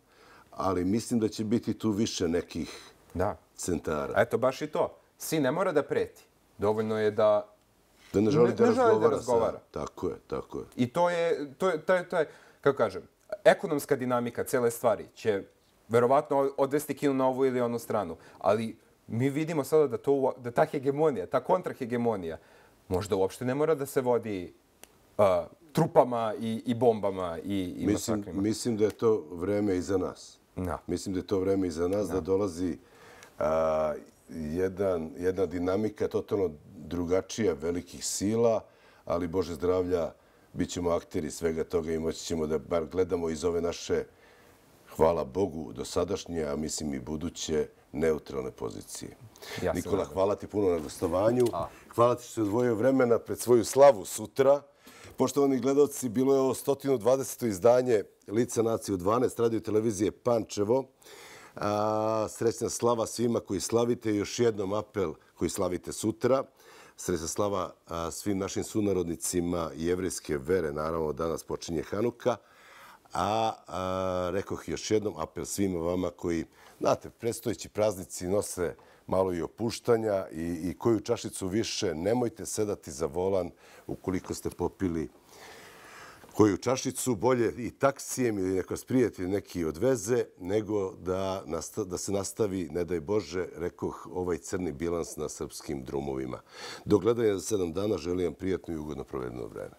ali mislim da će biti tu više nekih da. centara. Eto, baš i to. Si ne mora da preti. Dovoljno je da da ne želi ne, da, ne razgovara, želi da razgovara. Sa... Tako je, tako je. I to je, to je, to je, to je, kako kažem, ekonomska dinamika cele stvari će verovatno odvesti Kinu na ovu ili onu stranu. Ali mi vidimo sada da, to, da ta hegemonija, ta kontrahegemonija, možda uopšte ne mora da se vodi uh, trupama i, i bombama i, i mislim, masakrima. Mislim da je to vreme iza nas. No. Mislim da je to vreme iza nas, no. da dolazi uh, jedan, jedna dinamika totalno drugačija velikih sila, ali Bože zdravlja, bit ćemo akteri svega toga i moći ćemo da bar gledamo iz ove naše, hvala Bogu, dosadašnje, a mislim i buduće, neutralne pozicije. Ja Nikola, hvala ti puno na gostovanju. A. Hvala ti što si odvojio vremena pred svoju slavu sutra. Poštovani gledalci, bilo je ovo sto dvadeseto izdanje Lica nacije u dvanaest radio televizije Pančevo. A, srećna slava svima koji slavite. Još jednom apel koji slavite sutra. Srećna slava a, svim našim sunarodnicima jevrejske vere. Naravno, danas počinje Hanuka. A, a rekoh još jednom apel svima vama koji, znate, predstojeći praznici nose malo i opuštanja i, i koju čašicu više, nemojte sedati za volan ukoliko ste popili koju čašicu, bolje i taksijem ili neko prijatelj neki odveze, nego da, nasta, da se nastavi, ne daj Bože, rekoh, ovaj crni bilans na srpskim drumovima. Do gledanja za sedam dana želim vam prijatno i ugodno provedeno vreme.